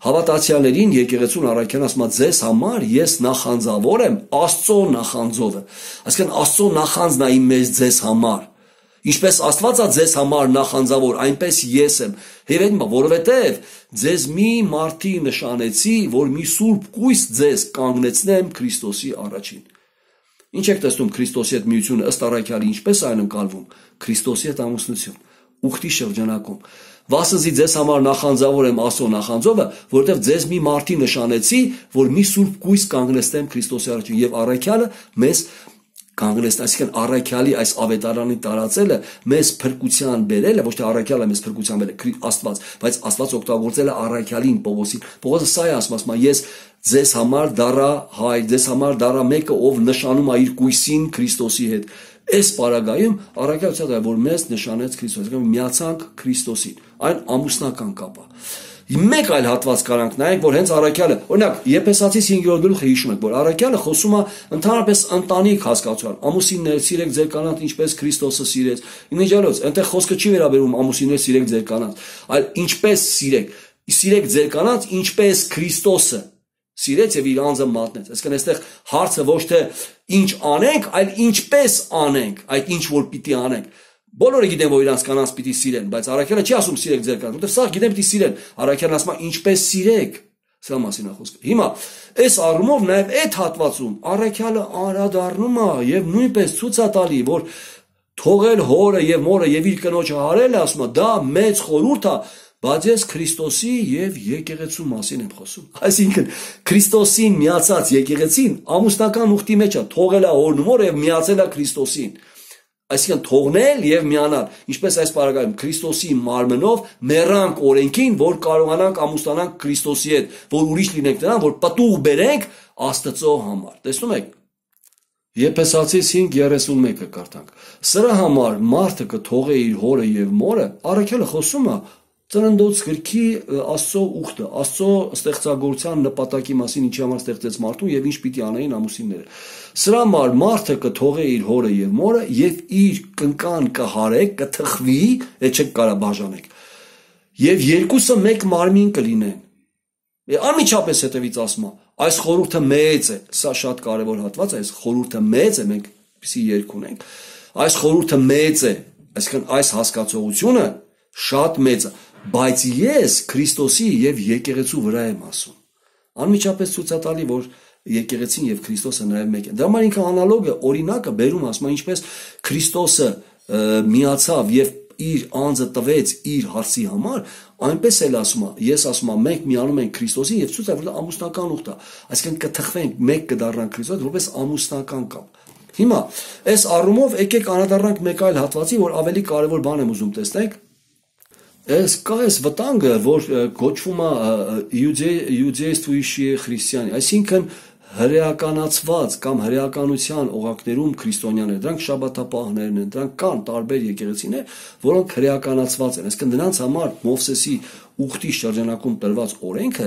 հավատացյալներին եկեղեցուն առաքյալն ասում է ձեզ համար ես նախանձավոր եմ Աստծո նախանձովը այսինքն Աստծո նախանձն է իմ մեծ ձեզ համար ինչպես Աստված է ձեզ համար նախանձավոր այնպես ես եմ հերեն որովհետև ձեզ մի մարդի նշանեցի որ մի սուրբ կույս ձեզ կանգնեցնեմ Քրիստոսի առաջին Ինչ եք տեսնում Քրիստոսի հետ միությունը ըստ առաքյալի ինչպես այն ընկալվում Քրիստոսի հետ ամուսնություն ուխտի շրջանակում Վասնզի ձեզ համար նախանձավոր եմ Աստծո նախանձովը որովհետև ձեզ մի մարդի նշանեցի որ մի սուրբ կույս կանգնեցնեմ Քրիստոսի առաջին եւ առաքյալը մեզ կանգնեցնի այսինքն առաքյալի այս ավետարանի տարածելը մեզ փրկության բերելը ոչ թե առաքյալը մեզ փրկության բերել Աստված բայց Աստված օգտագործել է առաքյալին Պողոսին Պողոսը սա է ասում ասում ես ձեզ համար դառա հայր, ձեզ համար դառա մեկը, ով նշանում է իր կույսին Քրիստոսի հետ։ Այս պարագայում առաքյալը դա որ մեզ նշանեց Քրիստոսը, միացանք Քրիստոսին։ Այն ամուսնական կապ է։ Մեկ այլ հատված կարանք նայենք, որ հենց առաքյալը, օրինակ, Եփեսացիս հինգերորդ գլուխը հիշում եք, որ առաքյալը խոսում է ընդհանրապես ընտանիք հասկացության։ Ամուսիններ սիրեք ձեր կանանց, ինչպես Քրիստոսը սիրեց։ Իմիջիալոց, այնտեղ խոսքը չի վերաբերում ամուսիններ սիրեք ձեր կանանց, այլ ինչպես սիրեք։ Սիրեք ձեր կանանց, ինչպես Քրիստոսը Սիրեց եւ իր անձը մատնեց։ Այսինքն այստեղ հարցը ոչ թե ինչ անենք, այլ ինչպես անենք, այդ ինչ որ պիտի անենք։ Բոլորը գիտեն, որ իրանց կանանց պիտի սիրեն, բայց առաքյալը չի ասում սիրեք ձեր կանանց, որովհետեւ սա գիտեն պիտի սիրեն։ Առաքյալն ասում է ինչպես սիրեք։ Սա մասին է խոսքը։ Հիմա այս առումով նաեւ այդ հատվածում առաքյալը անդրադառնում է եւ նույնպես ցույց է տալի, որ թողել հորը եւ մորը եւ իր կնոջը հարել, ասում է, դա մեծ խորհուրդ է Բայց ես Քրիստոսի եւ եկեղեցու մասին եմ խոսում։ Այսինքն Քրիստոսին միացած եկեղեցին ամուսնական ուխտի մեջ է, թողել է հորն ու մորը եւ միացել է Քրիստոսին։ Այսինքն թողնել եւ միանալ, ինչպես այս պարագայում Քրիստոսի մարմնով մեռանք օրենքին, որ կարողանանք ամուսնանանք Քրիստոսի հետ, որ ուրիշ լինենք նրան, որ պտուղ բերենք Աստծո համար։ Տեսնում եք։ Եփեսացիս հինգ երեսունմեկը կարդանք։ Սրա համար մարդը կթողե իր հորը եւ մորը, առաքյալը խոսում է Ծննդոց գրքի Աստծո ուխտը, Աստծո ստեղծագործության նպատակի մասին ինչի համար ստեղծեց մարդուն եւ ինչ պիտի անեին ամուսինները։ Սրա համար մարդը կթողե իր հորը եւ մորը եւ իր կնկան կհարե, կթխվի, այդ չեք կարա բաժանեք։ Եվ երկուսը մեկ մարմին կլինեն։ Անմիջապես հետևից ասում է, այս խորհուրդը մեծ է, սա շատ կարեւոր հատված է, այս խորհուրդը մեծ է, մենք պիսի երկ ունենք։ Այս խորհուրդը մեծ է, այսինքն այս հասկացողությունը շատ մեծ է Բայց ես Քրիստոսի եւ եկեղեցու վրա եմ ասում։ Անմիջապես ցույց է տալի, որ եկեղեցին եւ Քրիստոսը նաեւ մեկ են։ Դա համար ինքը անալոգը, օրինակը բերում ասում, ինչպես Քրիստոսը միացավ եւ իր անձը տվեց իր հարցի համար, այնպես էլ ասում է, ես ասում եմ, մենք միանում ենք Քրիստոսին եւ ցույց է որ ամուսնական ուխտ է, այսինքն կթխվենք, մեկ կդառնանք Քրիստոս, որպես ամուսնական կապ։ Հիմա այս առումով եկեք անդրադառնանք մեկ այլ հատվածի, որ ավելի կարևոր բան եմ ուզում տեսնենք։ Այս կա այս վտանգը, որ գոչվում է իուդեյստվոյշի խրիստիանի, այսինքն հրեականացված կամ հրեականության օղակներում քրիստոնյաներ, դրանք շաբաթապահներն են, դրանք կան տարբեր եկեղեցիներ, որոնք հրեականացված են, այսինքն նրանց համար Մովսեսի ուխտի շրջանակում տրված օրենքը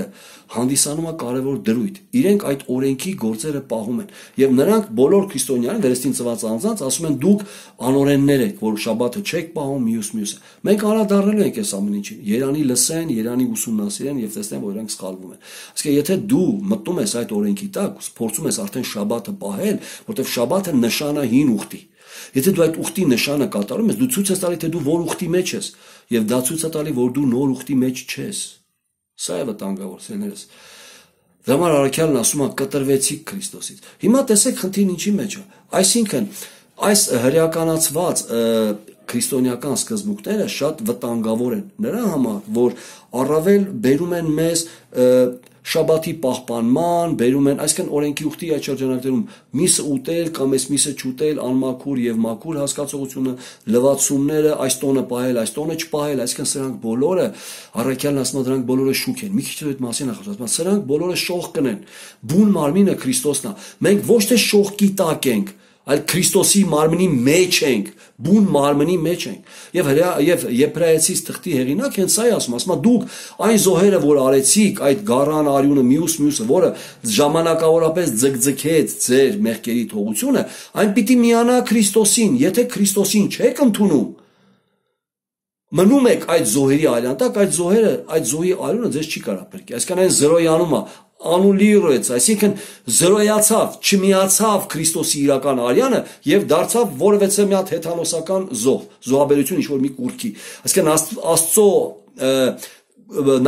հանդիսանում է կարևոր դրույթ։ Իրենք այդ օրենքի գործերը պահում են եւ նրանք բոլոր քրիստոնյաները վերստին ծված անձանց ասում են դուք անօրեններ եք, որ շաբաթը չեք պահում մյուս մյուսը։ Մենք անդրադառնալու ենք այս ամեն ինչին։ Երանի լսեն, Երանի ուսումնասիրեն եւ տեսնեն, որ իրենք սխալվում են։ Իսկ եթե դու մտնում ես այդ օրենքի տակ, փորձում ես արդեն շաբաթը պահել, որտեղ շաբաթը նշան է հին ուխտի։ Եթե դու այդ ուխտի նշանը կատարում ես, դու ցույց ես տալի, թե դու որ ուխտի մեջ ես, եւ դա ցույց է տալի, որ դու նոր ուխտի մեջ չես։ Սա է վտանգավոր, սերներս։ Դրա համար առաքյալն ասում է կտրվեցիք Քրիստոսից։ Հիմա տեսեք խնդիրն ինչի մեջ է։ Այսինքն այս հրեականացված քրիստոնեական սկզբունքները շատ վտանգավոր են նրա համար, որ առավել բերում են մեզ շաբաթի պահպանման, բերում են, այսինքն օրենքի ուխտի այդ շրջանակներում միսը ուտել կամ այս միսը չուտել, անմաքուր եւ մաքուր հասկացողությունը, լվացումները, այս տոնը պահել, այս տոնը չպահել, այսինքն սրանք բոլորը առաքյալն ասում է դրանք բոլորը շուք են։ Մի քիչ այդ մասին է խոսում, սրանք բոլորը շող կնեն։ Բուն մարմինը Քրիստոսն է։ Մենք ոչ թե շողքի տակ ենք, այլ Քրիստոսի մարմնի մեջ ենք, բուն մարմնի մեջ ենք։ Եվ եւ Եբրայեցիս թղթի հեղինակ հենց սա է ասում, ասում է դուք այն զոհերը, որ արեցիք, այդ գառան արյունը մյուս մյուսը, որը ժամանակավորապես ձգձգեց ձեր մեղքերի թողությունը, այն պիտի միանա Քրիստոսին, եթե Քրիստոսին չեք ընդունում, մնում եք այդ զոհերի արյան տակ, այդ զոհերը, այդ զոհի արյունը ձեզ չի կարող փրկի։ Այսինքն այն զրոյանում է, անուլիրեց, այսինքն զրոյացավ, չմիացավ Քրիստոսի իրական արյանը եւ դարձավ որևէ մի հատ հեթանոսական զոհ, զոհաբերություն ինչ-որ մի կուրքի։ Այսինքն Աստծո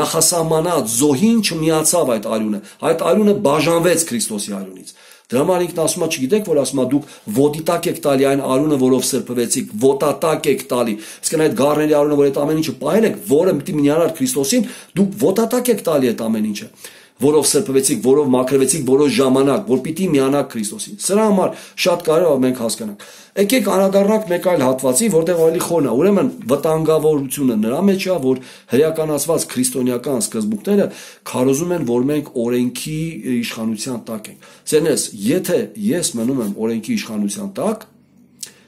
նախասահմանած զոհին չմիացավ այդ արյունը, այդ արյունը բաժանվեց Քրիստոսի արյունից։ Դրա համար ինքն ասում է, չգիտեք, որ ասում է դուք ոտիտակ եք տալի այն արյունը, որով սրբվեցիք, ոտատակ եք տալի։ Իսկ այդ գառների արյունը, որ այդ ամեն ինչը պահել եք, որը պիտի միանար Քրիստոսին, դուք ոտատակ եք տալի այդ ամեն ինչը, որով սրբվեցիք, որով մաքրվեցիք որոշ ժամանակ, որ պիտի միանաք Քրիստոսին։ Սրա համար շատ կարևոր է մենք հասկանանք։ Եկեք անդրադառնանք մեկ այլ հատվածի, որտեղ ավելի խորն է։ Ուրեմն վտանգավորությունը նրա մեջ է, որ հրեականացված քրիստոնեական սկզբունքները քարոզում են, որ մենք օրենքի իշխանության տակ ենք։ Սերներս, եթե ես մնում եմ օրենքի իշխանության տակ,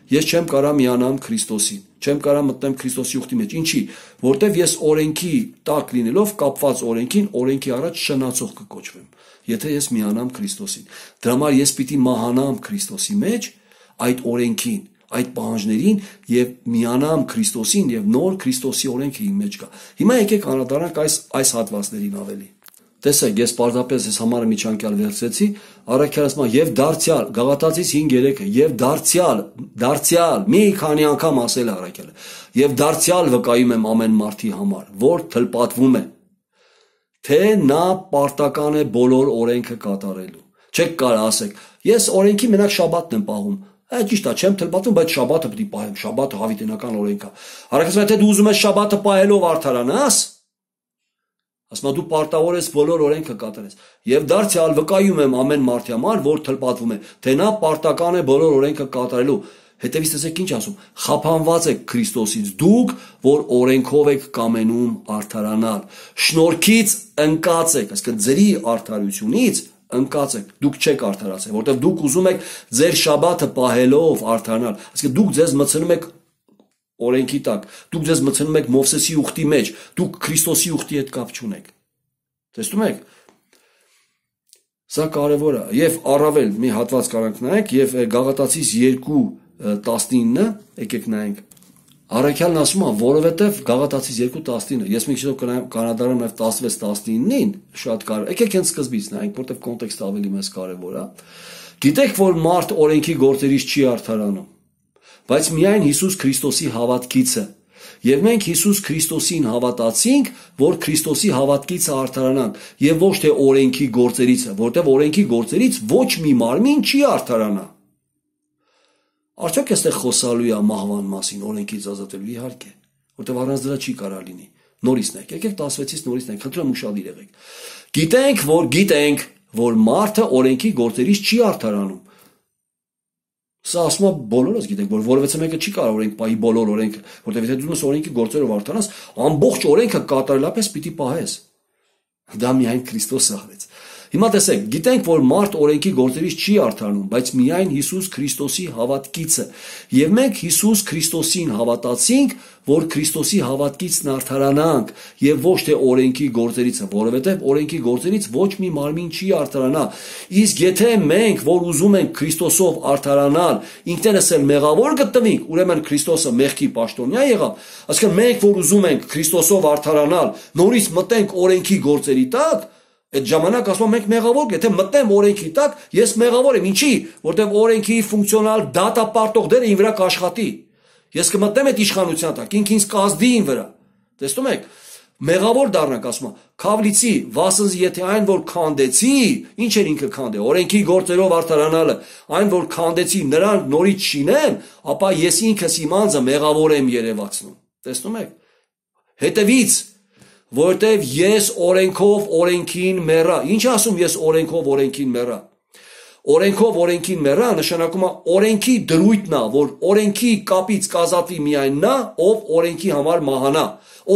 ես չեմ կարա միանամ Քրիստոսին, չեմ կարա մտնեմ Քրիստոսի ուխտի մեջ։ Ինչի՞, որտեվ ես օրենքի տակ լինելով, կապված օրենքին, օրենքի առաջ շնացող կկոչվեմ, եթե ես միանամ Քրիստոսին։ Դրա համար ես պիտի մահանամ Քրիստոսի մեջ այդ օրենքին, այդ պահանջներին եւ միանամ Քրիստոսին եւ նոր Քրիստոսի օրենքը իմ մեջ կա։ Հիմա եկեք անդրադառնանք այս այս հատվածներին ավելի։ Տեսեք, ես պարզապես այս համարը միջանկյալ վերցրեցի, առաքյալը ասում է եւ դարձյալ, Գաղատացիս հինգ երեքը, եւ դարձյալ, դարձյալ, մի քանի անգամ ասել է առաքյալը, եւ դարձյալ վկայում եմ ամեն մարդի համար, որ թլպատվում է, թե նա պարտական է բոլոր օրենքը կատարելու։ Չեք կարող ասեք, ես օրենքի մենակ շաբաթն եմ պահում։ Այդ ճիշտ է, չեմ թլպատվում, բայց շաբաթը պետք է պահեմ, շաբաթը հավիտենական օրենք է։ Առաքյալը թե դու ուզում ես շաբաթը պահելով արդարանաս, ասում դու պարտավոր ես բոլոր օրենքը կատարես։ Եվ դարձյալ վկայում եմ ամեն մարդի համար, որ թլպատվում է, թե նա պարտական է բոլոր օրենքը կատարելու։ Հետևից տեսեք ինչ ասում. խափանված եք Քրիստոսից դուք, որ օրենքով եք կամենում արդարանալ։ Շնորհքից ընկած եք, այսինքն ձերի արդարությունից ընկած եք, դուք չեք արդարացել, որտեղ դուք ուզում եք ձեր շաբաթը պահելով արդարանալ, այսինքն դուք ձեզ մցնում եք օրենքի տակ, դուք ձեզ մցնում եք Մովսեսի ուխտի մեջ, դուք Քրիստոսի ուխտի հետ կապ չունեք։ Տեսնում եք։ Սա կարևոր է, եւ առավել մի հատված կարանք նայենք, եւ Գաղատացիս երկու տասնինը, եկեք նայենք։ Առաքյալն ասում է, որովհետեւ Գաղատացիս երկու տասնինը, ես մի քիչ կանադարան նաեւ տասնվեց տասնինին, շատ կարևոր։ Եկեք հենց սկզբից նայենք, որտեւ կոնտեքստը ավելի մեծ կարևոր է։ Գիտեք, որ մարդ օրենքի գործերից չի արդարանում, բայց միայն Հիսուս Քրիստոսի հավատքից է։ Եվ մենք Հիսուս Քրիստոսին հավատացինք, որ Քրիստոսի հավատքից արդարանանք, եւ ոչ թե օրենքի գործերից, որտեղ օրենքի գործերից ոչ մի մարմին չի արդարանա։ Արդյոք այստեղ խոսալու է մահվան մասին, օրենքից ազատելու, իհարկե, որտեղ առանց դրա չի կարա լինի։ Նորից նայեք, եկեք տասվեցից նորից նայեք, խնդրում եմ ուշադիր եղեք։ Գիտենք, որ գիտենք, որ մարդը օրենքի գործերից չի արդարանում։ Սա ասում է բոլորս գիտենք, որ որևէ մեկը չի կարող օրենք պահի բոլոր օրենքը, որտեղ եթե դու ուսես օրենքի գործերով արդարանաս, ամբողջ օրենքը կատարելապես պիտի պահես։ Դա միայն Քրիստոսը արեց։ Հիմա տեսեք, գիտենք, որ մարդ օրենքի գործերից չի արդարանում, բայց միայն Հիսուս Քրիստոսի հավատքիցը։ Եվ մենք Հիսուս Քրիստոսին հավատացինք, որ Քրիստոսի հավատքիցն արդարանանք, եւ ոչ թե օրենքի գործերիցը, որովհետեւ օրենքի գործերից ոչ մի մարմին չի արդարանա։ Իսկ եթե մենք, որ ուզում ենք Քրիստոսով արդարանալ, ինքներս էլ մեղավոր գտնվենք, ուրեմն Քրիստոսը մեղքի պաշտոնյա եղավ, այսինքն մենք, որ ուզում ենք Քրիստոսով արդարանալ, նորից մտենք օրենքի գործերի տակ, այդ ժամանակ ասում ենք մեղավոր, եթե մտնեմ օրենքի տակ, ես մեղավոր եմ, ինչի, որտեղ օրենքի ֆունկցիոնալ դատապարտող դերը ին վրա կաշխատի։ Ես կմտնեմ այդ իշխանության տակ, ինքն ինձ կազդի ին վրա։ Տեսնում եք, մեղավոր դառնանք, ասում եմ, քավլիցի, վասնզի եթե այն որ քանդեցի, ինչ էր ինքը քանդե, օրենքի գործերով արդարանալը, այն որ քանդեցի, նրան նորից շինեմ, ապա ես ինքս իմ անձը մեղավոր եմ երևացնում։ Տեսնում եք։ Հետևից որտեվ ես օրենքով օրենքին մեռա։ Ինչ ասում ես օրենքով օրենքին մեռա։ Օրենքով օրենքին մեռա նշանակում է օրենքի դրույթն է, որ օրենքի կապից կազատվի միայն նա, ով օրենքի համար մահանա,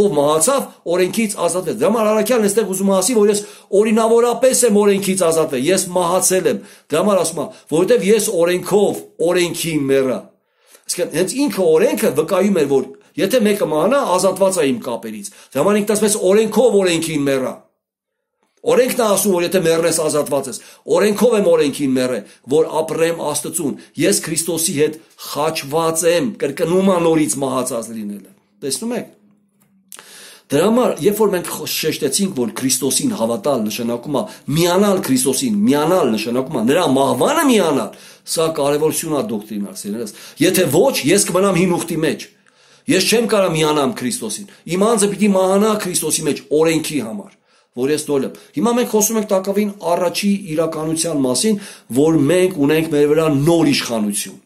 ով մահացավ, օրենքից ազատվեց։ Դրա համար առաքյալն այստեղ ուզում է ասի, որ ես օրինավորապես եմ օրենքից ազատվել, ես մահացել եմ։ Դրա համար ասում է, որովհետև ես օրենքով օրենքին մեռա։ Այսինքն հենց ինքը օրենքը վկայում էր, որ եթե մեկը մահանա, ազատված է իմ կապերից։ Դրա համար ինքն ասում է օրենքով օրենքին մեռա։ Օրենքն է ասում, որ եթե մեռնես ազատված ես։ Օրենքով եմ օրենքին մեռել, որ ապրեմ Աստծուն։ Ես Քրիստոսի հետ խաչված եմ, կրկնում անորից մահացած լինելը։ Տեսնում եք։ Դրա համար, երբ որ մենք շեշտեցինք, որ Քրիստոսին հավատալ նշանակում է միանալ Քրիստոսին, միանալ նշանակում է նրա մահվանը միանալ, սա կարևորություն է դոկտրինալ, սիրելիներս։ Եթե ոչ, ես կմնամ հին ուխտի մեջ։ Ես չեմ կարող միանամ Քրիստոսին։ Իմ անձը պիտի մահանա Քրիստոսի մեջ օրենքի համար, որ ես դոլեմ։ Հիմա մենք խոսում ենք տակավին առաջի իրականության մասին, որ մենք ունենք մեր վրա նոր իշխանություն։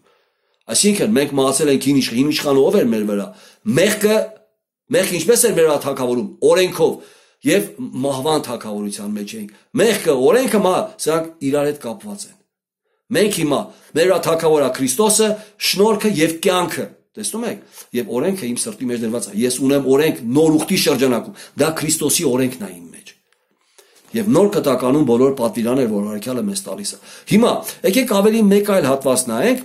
Այսինքն մենք մահացել ենք հին իշխան, հին իշխանը ով էր մեր վրա։ Մեղքը, մեղքը ինչպես էր մեր վրա թագավորում, օրենքով եւ մահվան թագավորության մեջ էինք։ Մեղքը, օրենքը, մահ, սրանք իրար հետ կապված են։ Մենք հիմա մեր վրա թագավորա Քրիստոսը, շնորհքը եւ կյանքը։ Տեսնում եք, եւ օրենքը իմ սրտի մեջ դրված է։ Ես ունեմ օրենք նոր ուխտի շրջանակում։ Դա Քրիստոսի օրենքն է իմ մեջ։ Եվ նոր կտականում բոլոր պատվիրաններ, որ առաքյալը մեզ տալիս է։ Հիմա եկեք ավելի մեկ այլ հատված նայենք։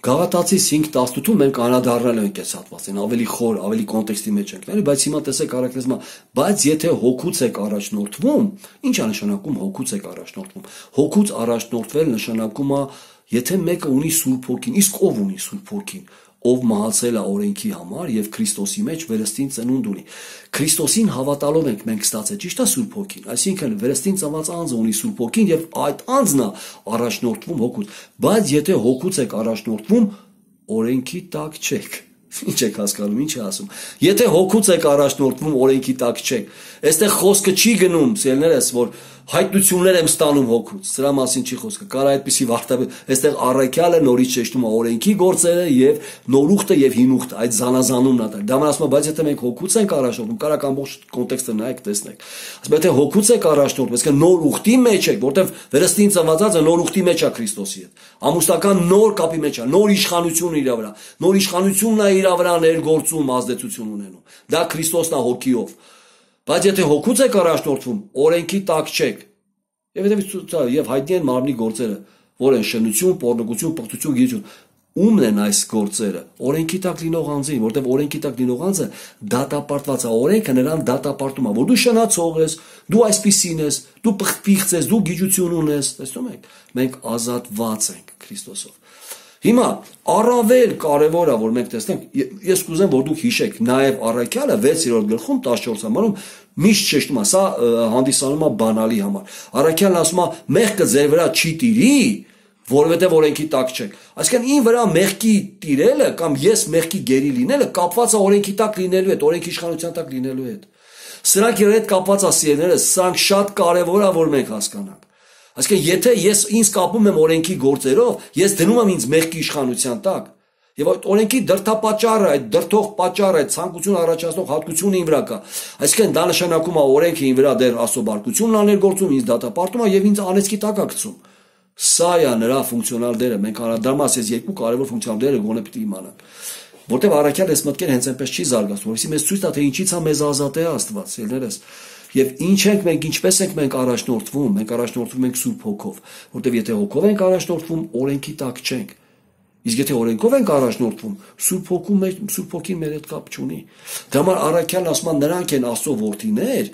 Գաղատացիս հինգ տասնութում մենք անդրադառնալ ենք այս հատվածին, ավելի խոր, ավելի կոնտեքստի մեջ ենք ների, բայց հիմա տեսեք առաքյալը, բայց եթե հոգուց եք առաջնորդվում, ի՞նչ է նշանակում հոգուց եք առաջնորդվում։ Հոգուց առաջնորդվել նշանակում է եթե մեկը ունի Սուրբ Հոգին, իսկ ով ունի Սուրբ Հոգին, ով մահացել է օրենքի համար եւ Քրիստոսի մեջ վերստին ծնունդ ունի։ Քրիստոսին հավատալով ենք մենք ստացել, ճիշտ է Սուրբ Հոգին, այսինքն վերստին ծնված անձը ունի Սուրբ Հոգին եւ այդ անձն է առաջնորդվում հոգուց, բայց եթե հոգուց եք առաջնորդվում, օրենքի տակ չեք։ Ինչ եք հասկանում, ինչ է ասում։ Եթե հոգուց եք առաջնորդվում, օրենքի տակ չեք։ Այստեղ խոսքը չի գնում, սիրելիներս, որ հայտնություններ եմ ստանում հոգուց։ Սրա մասին չի խոսքը։ Կարա այդպիսի վարդապետ, այստեղ առաքյալը նորից շեշտում է օրենքի գործերը եւ նորուխտը եւ հինուխտը, այդ զանազանումն է։ Դա համար ասում է, բայց եթե մենք հոգուց ենք առաջնորդվում, կարա ամբողջ կոնտեքստը նայեք, տեսնեք։ Ասում է, թե հոգուց եք առաջնորդվում, այսինքն նոր ուխտի մեջ եք, որտեվ վերստին ծնվածածը նոր ուխտի մեջ է Քրիստոսի հետ։ Ամուսնական նոր կապի մեջ է, նոր իշխանություն իր վրա։ Նոր իշխանությունն է իր վրա ներգործում, ազդեցություն ունենում։ Դա Քրիստոսն է հոգիով։ Բայց եթե հոգուց եք առաջնորդվում, օրենքի տակ չեք։ Եվ հետևից եւ հայտնի են մարմնի գործերը, որ են շնություն, պոռնոգություն, պղծություն, գիջություն։ Ումն են այս գործերը։ Օրենքի տակ լինող անձին, որտեղ օրենքի տակ լինող անձը դատապարտված է, օրենքը նրան դատապարտում է, որ դու շնացող ես, դու այսպիսին ես, դու պղծիղ ես, դու գիջություն ունես, տեսնում եք։ Մենք ազատված ենք Քրիստոսով։ Հիմա առավել կարևոր է, որ մենք տեսնենք, ես կուզեմ, որ դուք հիշեք, նաև առաքյալը վեցերորդ գլխում տասնչորս համարում միշտ շեշտում է, սա հանդիսանում է բանալի համար։ Առաքյալն ասում է, մեղքը ձեր վրա չի տիրի, որովհետև օրենքի տակ չեք։ Այսինքն ին վրա մեղքի տիրելը կամ ես մեղքի գերի լինելը կապված է օրենքի տակ լինելու հետ, օրենքի իշխանության տակ լինելու հետ։ Սրանք իրար հետ կապված է, սիրելիներս, սրանք շատ կարևոր է, որ մենք հասկանանք։ Այսինքն եթե ես ինձ կապում եմ օրենքի գործերով, ես դնում եմ ինձ մեղքի իշխանության տակ։ Եվ այդ օրենքի դրդապատճառը, այդ դրդող պատճառը, այդ ցանկություն առաջացնող հատկությունը իմ վրա կա։ Այսինքն դա նշանակում է օրենքը իմ վրա դեռ աստծո բարկությունն աներգործում, ինձ դատապարտում է եւ ինձ անեծքի տակ է գցում։ Սա է նրա ֆունկցիոնալ դերը։ Մենք անդրադառնանք այս երկու կարևոր ֆունկցիոնալ դերը գոնե պիտի իմանանք։ Որտեւ առաքյալ այս մտքերը հենց այնպես չի զարգացնում, որովհետեւ մեզ ցույց տա թե ինչից է մեզ ազատ է Աստված, ելներս։ Եվ ինչ ենք մենք, ինչպես ենք մենք առաջնորդվում, մենք առաջնորդվում ենք Սուրբ Հոգով, որտեւ եթե Հոգով ենք առաջնորդվում, օրենքի տակ չենք։ Իսկ եթե օրենքով ենք առաջնորդվում, Սուրբ Հոգու մեջ, Սուրբ Հոգին մեր հետ կապ չունի։ Դա համար առաքյալն ասում է նրանք են Աստծո որդիներ,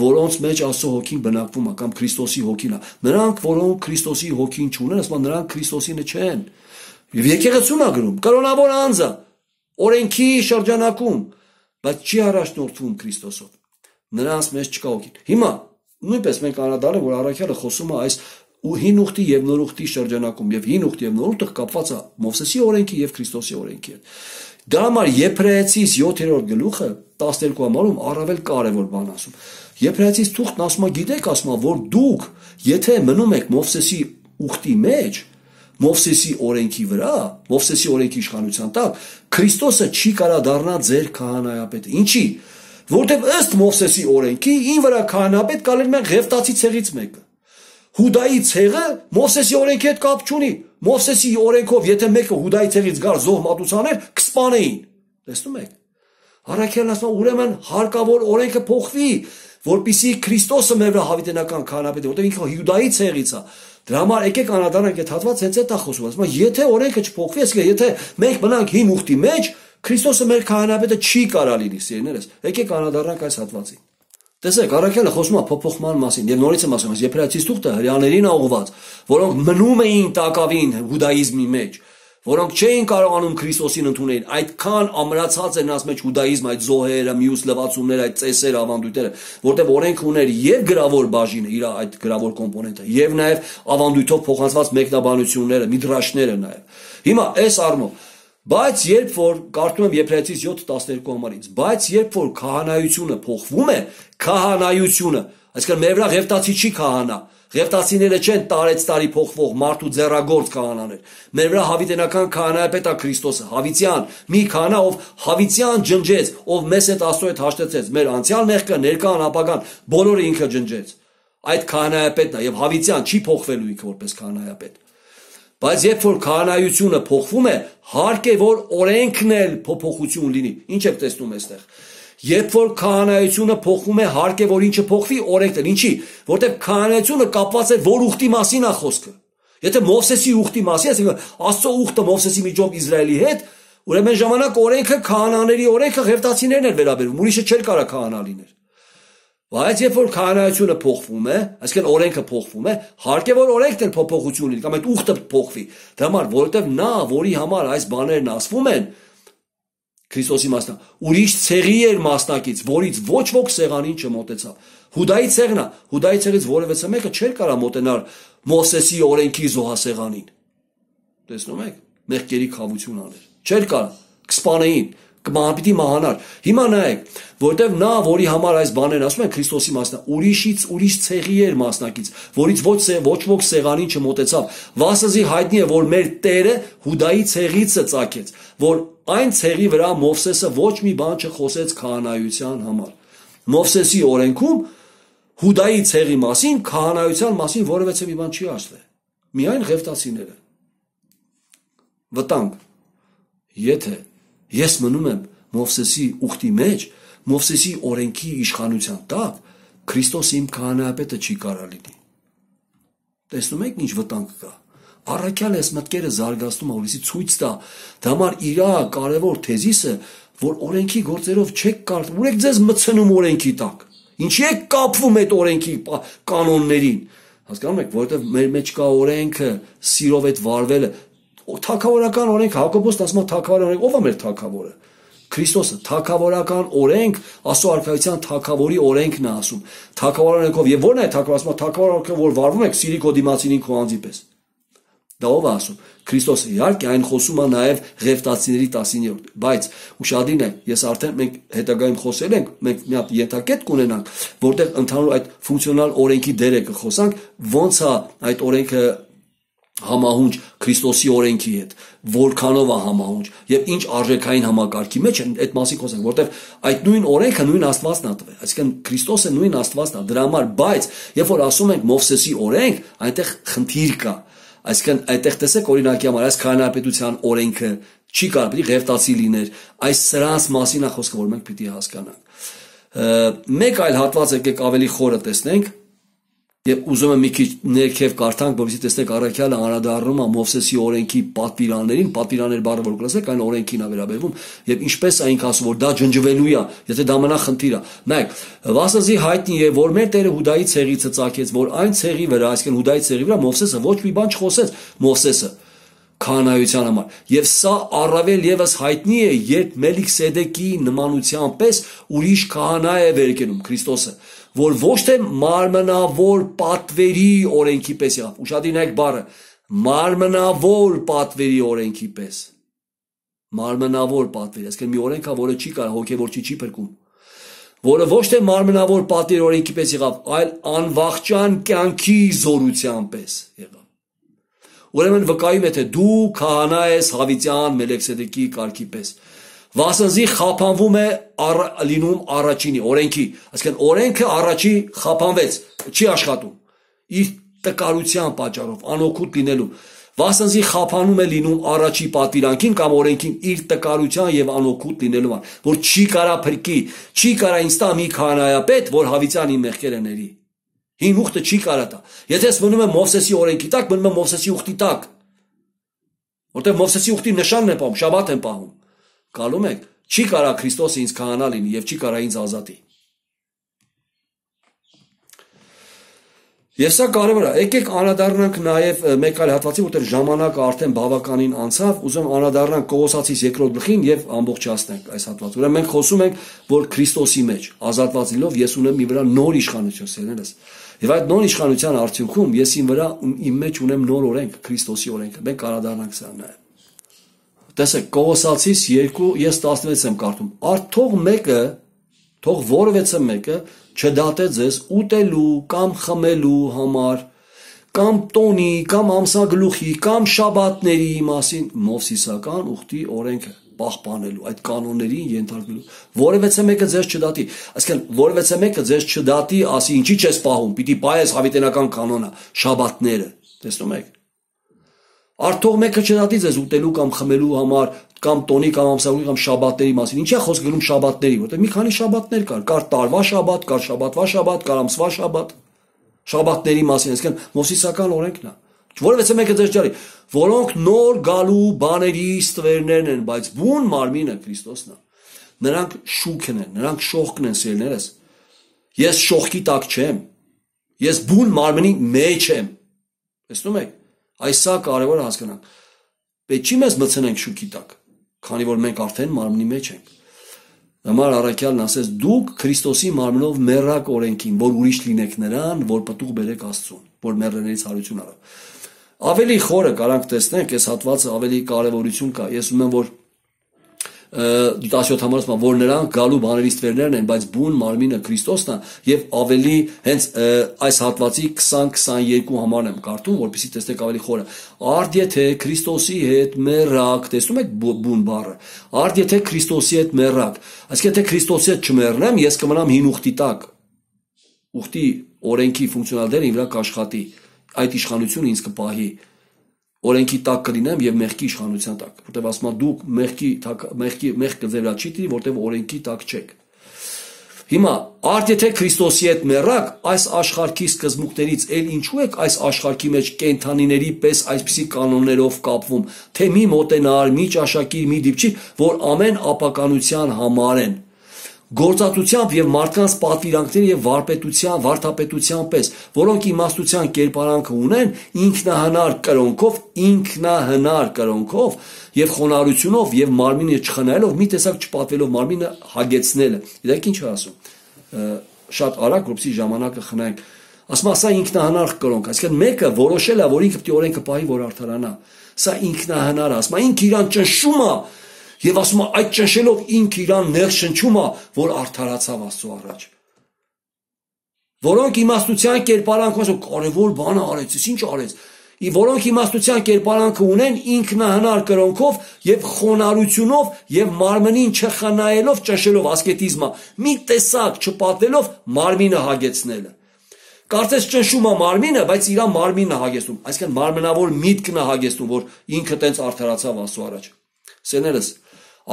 որոնց մեջ Աստծո Հոգին բնակվում է, կամ Քրիստոսի Հոգին է։ Նրանք, որոնք Քրիստոսի Հոգին չունեն, ասում է նրանք Քրիստոսինը չեն։ Եվ եկեղեցուն է գրում, կրոնավոր անձը, օրենքի շրջանակում, բայց չի առաջնորդվում Քրիստոսով։ Նրանց մեջ չկա Հոգին։ Հիմա նույնպես մենք անդրադառնանք, որ առաքյալը խոսում է այս ու հին ուխտի եւ նոր ուխտի շրջանակում, եւ հին ուխտի եւ նոր ուխտը կապված է Մովսեսի օրենքի եւ Քրիստոսի օրենքի հետ։ Դա համար Եբրայեցիս յոթերորդ գլուխը տասներկու համարում առավել կարևոր բան ասում։ Եբրայեցիս թուղթն ասում է, գիտեք, ասում է, որ դուք եթե մնում եք Մովսեսի ուխտի մեջ, Մովսեսի օրենքի վրա, Մովսեսի օրենքի իշխանության տակ, Քրիստոսը չի կարա դառնա ձեր քահանայապետը։ Ինչի՞։ Որտեւ ըստ Մովսեսի օրենքի ին վրա քահանապետ կալել են Ղևտացի ցեղից մեկը։ Հուդայի ցեղը Մովսեսի օրենքի հետ կապ չունի։ Մովսեսի օրենքով եթե մեկը Հուդայի ցեղից գար զոհ մատուցաներ, կսպանեին։ Տեսնում եք։ Առաքյալն ասում է, ուրեմն հարկավոր օրենքը փոխվի, որպեսզի Քրիստոսը մեր վրա հավիտենական քահանապետ է, որտեղ ինքը Հուդայի ցեղից է։ Դրա համար եկեք անդրադառնանք այդ հատվածը, հենց այդ է խոսում։ Ասում է, եթե օրենքը չփոխվի, այսինքն եթե մենք մնանք հին ուխտի մեջ, Քրիստոսը մեր քահանապետը չի կարա լինի, սիրելիներս։ Եկեք անդրադառնանք այս հատվածին։ Տեսեք, առաքյալը խոսում է փոփոխման մասին, եւ նորից եմ ասում, Եբրայեցիս թուղթը հրեաներին է ուղղված, որոնք մնում էին տակավին հուդայիզմի մեջ, որոնք չէին կարողանում Քրիստոսին ընդունել, այդքան ամրացած են նրանց մեջ հուդայիզմը, այդ զոհերը, մյուս լվացումները, այդ ծեսերը, ավանդույթները, որտեղ օրենքը ուներ եւ գրավոր բաժինը, իր այդ գրավոր կոմպոնենտը, եւ նաեւ ավանդույթով փոխանցված մեկնաբանությունները, միդրաշները նաեւ։ Հիմա այս առումով Բայց երբ որ կարդում եմ Եբրայեցիս յոթ տասներկու համարից, բայց երբ որ քահանայությունը փոխվում է, քահանայությունը, այսինքն մեր վրա Ղևտացի չի քահանա, Ղևտացիները չեն տարեց տարի փոխվող մարդու ձեռագործ քահանաներ։ Մեր վրա հավիտենական քահանայապետ է Քրիստոսը, հավիտյան, մի քահանա, ով հավիտյան ջնջեց, ով մեզ հետ Աստծո հետ հաշտեցեց, մեր անցյալ մեղքը, ներկան, ապագան, բոլորը ինքը ջնջեց։ Այդ քահանայապետն է եւ հավիտյան չի փոխվելու ինքը որպես քահանայապետ։ Բայց երբ որ քահանայությունը փոխվում է, հարկ է որ օրենքն էլ փոփոխություն լինի։ Ինչ եք տեսնում այստեղ։ Երբ որ քահանայությունը փոխվում է, հարկ է որ ինչը փոխվի, օրենքն էլ։ Ինչի՞։ Որտեղ քահանայությունը կապված է որ ուխտի մասին է խոսքը։ Եթե Մովսեսի ուխտի մասին, այսինքն Աստծո ուխտը Մովսեսի միջով Իսրայելի հետ, ուրեմն ժամանակ օրենքը քահանաների օրենքը Ղևտացիներն էր վերաբերում, ուրիշը չէր կարա քահանա լիներ։ Բայց երբ որ քահանայությունը փոխվում է, այսինքն օրենքը փոխվում է, հարկ է որ օրենքն էլ փոփոխություն լինի, կամ այդ ուխտը փոխվի։ Դա համար, որովհետև նա, որի համար այս բաներն ասվում են, Քրիստոսի մասնա, ուրիշ ցեղի էր մասնակից, որից ոչ ոք սեղանին չմոտեցավ։ Հուդայի ցեղն է, Հուդայի ցեղից որևէ մեկը չէր կարա մոտենալ Մովսեսի օրենքի զոհասեղանին։ Տեսնում եք, մեղքերի խավություն աներ։ Չէր կարա, կսպանեին, կմահապիտի մահանար։ Հիմա նայեք, որտեվ նա, որի համար այս բաներն ասում են Քրիստոսի մասնա, ուրիշից ուրիշ ցեղի էր մասնակից, որից ոչ ոչ ոք սեղանին չմոտեցավ։ Վասզի հայտնի է, որ մեր Տերը Հուդայի ցեղից է ծագեց, որ այն ցեղի վրա Մովսեսը ոչ մի բան չխոսեց քահանայության համար։ Մովսեսի օրենքում Հուդայի ցեղի մասին, քահանայության մասին որևէ մի բան չի ասվել։ Միայն Ղևտացիները։ Վտանգ։ Եթե ես մնում եմ Մովսեսի ուխտի մեջ, Մովսեսի օրենքի իշխանության տակ, Քրիստոս իմ քահանայապետը չի կարա լինի։ Տեսնում եք ինչ վտանգ կա։ Առաքյալը այս մտքերը զարգացնում է, որովհետեւ ցույց տա, դա համար իր կարևոր թեզիսը, որ օրենքի գործերով չեք կարող, ուր եք ձեզ մցնում օրենքի տակ։ Ինչի եք կապվում այդ օրենքի կանոններին։ Հասկանում եք, որովհետեւ մեր մեջ կա օրենքը, սիրով այդ վարվելը, թագավորական օրենք, Հակոբոսն ասում է թագավորական օրենք, ով է մեր թագավորը։ Քրիստոսը, թագավորական օրենք, Աստծո արքայության թագավորի օրենքն է ասում։ Թագավորական օրենքով, եւ ո՞րն է թագավոր, ասում է թագավորական օրենքը, որ վարվում եք, սիրի քո դիմացինին քո անձի պես։ Դա ով է ասում։ Քրիստոսը, իհարկե, այն խոսում է նաև Ղևտացիների տասիններորդ, բայց ուշադրին է, ես արդեն մենք հետագայում խոսել ենք, մենք մի հատ ենթակետ կունենանք, որտեղ ընդհանուր այդ ֆունկցիոնալ օրենքի դերը կխոսանք, ոնց է այդ օրենքը համահունչ Քրիստոսի օրենքի հետ, որքանով է համահունչ եւ ինչ արժեքային համակարգի մեջ են այդ մասին խոսենք, որտեղ այդ նույն օրենքը նույն Աստվածն է տվել, այսինքն Քրիստոսը նույն Աստվածն է, դրա համար, բայց երբ որ ասում ենք Մովսեսի օրենք, այնտեղ խնդիր կա, այսինքն այդտեղ տեսեք օրինակի համար այս քահանայապետության օրենքը չի կարող պիտի Ղևտացի լիներ, այս սրանց մասին է խոսքը, որ մենք պիտի հասկանանք։ Մեկ այլ հատված եկեք ավելի խորը տեսնենք եւ ուզում եմ մի քիչ ներքև կարդանք, որովհետեւ տեսնեք առաքյալը անդրադառնում է Մովսեսի օրենքի պատվիրաններին, պատվիրաններ բառը որ գլասեք, այն օրենքին է վերաբերվում եւ ինչպես է ինքը ասում, որ դա ջնջվելու է, եթե դա մնա խնդիր է։ Նայեք, վասնզի հայտնի է, որ մեր Տերը Հուդայի ցեղից ծածկեց, որ այն ցեղի վրա, այսինքն Հուդայի ցեղի վրա Մովսեսը ոչ մի բան չխոսեց, Մովսեսը քահանայության համար։ Եվ սա առավել եւս հայտնի է, երբ Մելքիսեդեկի նմանության պես ուրիշ քահանա է վեր կենում Քրիստոսը, որ ոչ թե մարմնավոր պատվերի օրենքի պես եղավ։ Ուշադիր եք բառը, մարմնավոր պատվերի օրենքի պես։ Մարմնավոր պատվեր, այսինքն մի օրենք է, որը չի կարող հոգևոր չի փրկում։ Որը ոչ թե մարմնավոր պատվերի օրենքի պես եղավ, այլ անվախճան կյանքի զորության պես եղավ։ Ուրեմն վկայում է, թե դու քահանա ես Հավիտյան Մելքիսեդեկի կարգի պես։ Վասնզի խափանվում է առ, լինում առաջինի օրենքի, այսինքն օրենքը առաջի խափանվեց, չի աշխատում։ Իր տկարության պատճառով, անօգուտ լինելու, վասնզի խափանում է լինում առաջի պատվիրանքին կամ օրենքին իր տկարության եւ անօգուտ լինելու, որ չի կարա փրկի, չի կարա ինձ տա մի քահանայապետ, որ Հավիտյան իմ մեղքերը ների։ Հին ուխտը չի կարա տա։ Եթե ես մնում եմ Մովսեսի օրենքի տակ, մնում եմ Մովսեսի ուխտի տակ։ Որտեղ Մովսեսի ուխտի նշանն է պահում, շաբաթ են պահում։ Գալում եք, չի կարա Քրիստոսը ինձ քահանա լինի եւ չի կարա ինձ ազատի։ Եվ սա կարևոր է։ Եկեք անդրադառնանք նաեւ մեկ այլ հատվածի, որտեղ ժամանակը արդեն բավականին անցավ, ուզում անդրադառնանք Կողոսացիս երկրորդ գլխին եւ ամբողջացնենք այս հատվածը։ Ուրեմն մենք խոսում ենք, որ Քրիստոսի մեջ ազատված լինելով ես ունեմ մի վրա նոր իշխանություն, սերներս։ Եվ այդ նոր իշխանության արդյունքում ես իմ վրա իմ մեջ ունեմ նոր օրենք, Քրիստոսի օրենքը։ Մենք անդրադառնանք սա նաեւ։ Տեսեք, Կողոսացիս երկու, ես տասնվեց եմ կարդում։ Արդ թող մեկը, թող որևէ մեկը չդատե ձեզ ուտելու կամ խմելու համար, կամ տոնի, կամ ամսագլուխի, կամ շաբաթների մասին Մովսիսական ուխտի օրենքը պահպանելու, այդ կանոններին ենթարկվելու։ Որևէ մեկը ձեզ չդատի։ Այսինքն, որևէ մեկը ձեզ չդատի, ասի ինչի՞ չես պահում, պիտի պահես հավիտենական կանոնը, շաբաթները։ Տեսնում եք։ Արդյոք մեկը չդատի ձեզ ուտելու կամ խմելու համար, կամ տոնի կամ ամսագրի կամ շաբաթների մասին։ Ինչի՞ է խոսք գնում շաբաթների, որտեղ մի քանի շաբաթներ կար, կար տարվա շաբաթ, կար շաբաթվա շաբաթ, կար ամսվա շաբաթ։ Շաբաթների մասին, այսինքն Մովսիսական օրենքն է։ Որևէ մեկը ձեզ չարի, որոնք նոր գալու բաների ստվերներն են, բայց բուն մարմինը Քրիստոսն է։ Նրանք շուքն են, նրանք շողքն են, սիրելիներս։ Ես շողքի տակ չեմ։ Ես բուն մարմնի մեջ եմ։ Տեսնում եք։ Այս սա կարևոր է հասկանանք։ Պետք չի մեզ մտցնենք շուքի տակ, քանի որ մենք արդեն մարմնի մեջ ենք։ Համար առաքյալն ասեց, դուք Քրիստոսի մարմնով մեռակ օրենքին, որ ուրիշ լինեք նրան, որ պտուղ բերեք Աստծուն, որ մեռելներից հարություն արավ։ Ավելի խորը կարանք տեսնենք, այս հատվածը ավելի կարևորություն կա։ Ես ուզում եմ, որ տասնյոթ համարում որ նրանք գալու բաների ստվերներն են, բայց բուն մարմինը Քրիստոսն է եւ ավելի հենց այս հատվածի քսան քսաներկու համարն եմ կարդում, որպեսզի տեսնեք ավելի խորը։ Արդ եթե Քրիստոսի հետ մեռակ, տեսնում եք բուն բառը։ Արդ եթե Քրիստոսի հետ մեռակ, այսինքն եթե Քրիստոսի հետ չմեռնեմ, ես կմնամ հին ուխտի տակ։ Ուխտի օրենքի ֆունկցիոնալ դերը իմ վրա կաշխատի, այդ իշխանությունը ինձ կպահի։ Օրենքի տակ կլինեմ եւ մեղքի իշխանության տակ, որտեղ ասում եմ դուք մեղքի մեղքի մեղքը ձեր վրա չի տիրի, որտեղ օրենքի տակ չեք։ Հիմա արդ եթե Քրիստոսի հետ մեռակ, այս աշխարհի սկզբունքներից ել ինչու եք այս աշխարհի մեջ կենթանիների պես այսպիսի կանոններով կապվում, թե մի մոտենար, մի ճաշակիր, մի դիպչի, որ ամեն ապականության համար են։ Գործածությամբ եւ մարդկանց պատվիրանքների եւ վարպետության, վարդապետության պես, որոնք իմաստության կերպարանքը ունեն, ինքնահնար կրոնքով, ինքնահնար կրոնքով եւ խոնարհությունով եւ մարմինը չխնայելով, մի տեսակ չպատվելով մարմինը հագեցնելը։ Իդեք ինչ է ասում։ Շատ արագ, որպեսզի ժամանակը խնայենք։ Ասում ասա ինքնահնար կրոնք, այսինքն մեկը որոշել է, որ ինքը պետք է օրենքը պահի, որ արդարանա։ Սա ինքնահնար է, ասում է ինքը իրան ճնշում է, եւ ասում է այդ ճնշելով ինքը իրան նեղ շնչում է, որ արդարացավ Աստծո առաջ։ Որոնք իմաստության կերպարանքով ասում կարևոր բան արեց, ինչ արեց։ Որոնք իմաստության կերպարանքը ունեն ինքնահնար կրոնքով եւ խոնարհությունով եւ մարմնին չխնայելով ճնշելով ասկետիզմը, մի տեսակ չպատվելով մարմինը հագեցնելը։ Կարծես ճնշում է մարմինը, բայց իր մարմինն է հագեցնում, այսինքն մարմնավոր միտքն է հագեցնում, որ ինքը տենց արդարացավ Աստծո առաջ։ Սեներս,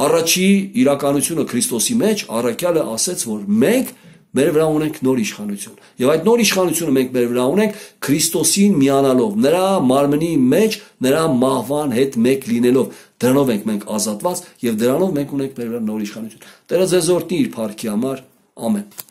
առաջի իրականությունը Քրիստոսի մեջ առաքյալը ասեց, որ մենք մեր վրա ունենք նոր իշխանություն։ Եվ այդ նոր իշխանությունը մենք մեր վրա ունենք Քրիստոսին միանալով, նրա մարմնի մեջ, նրա մահվան հետ մեկ լինելով։ Դրանով ենք մենք ազատված եւ դրանով մենք ունենք մեր վրա նոր իշխանություն։ Տերը ձեզ օրհնի իր փառքի համար։ Ամեն։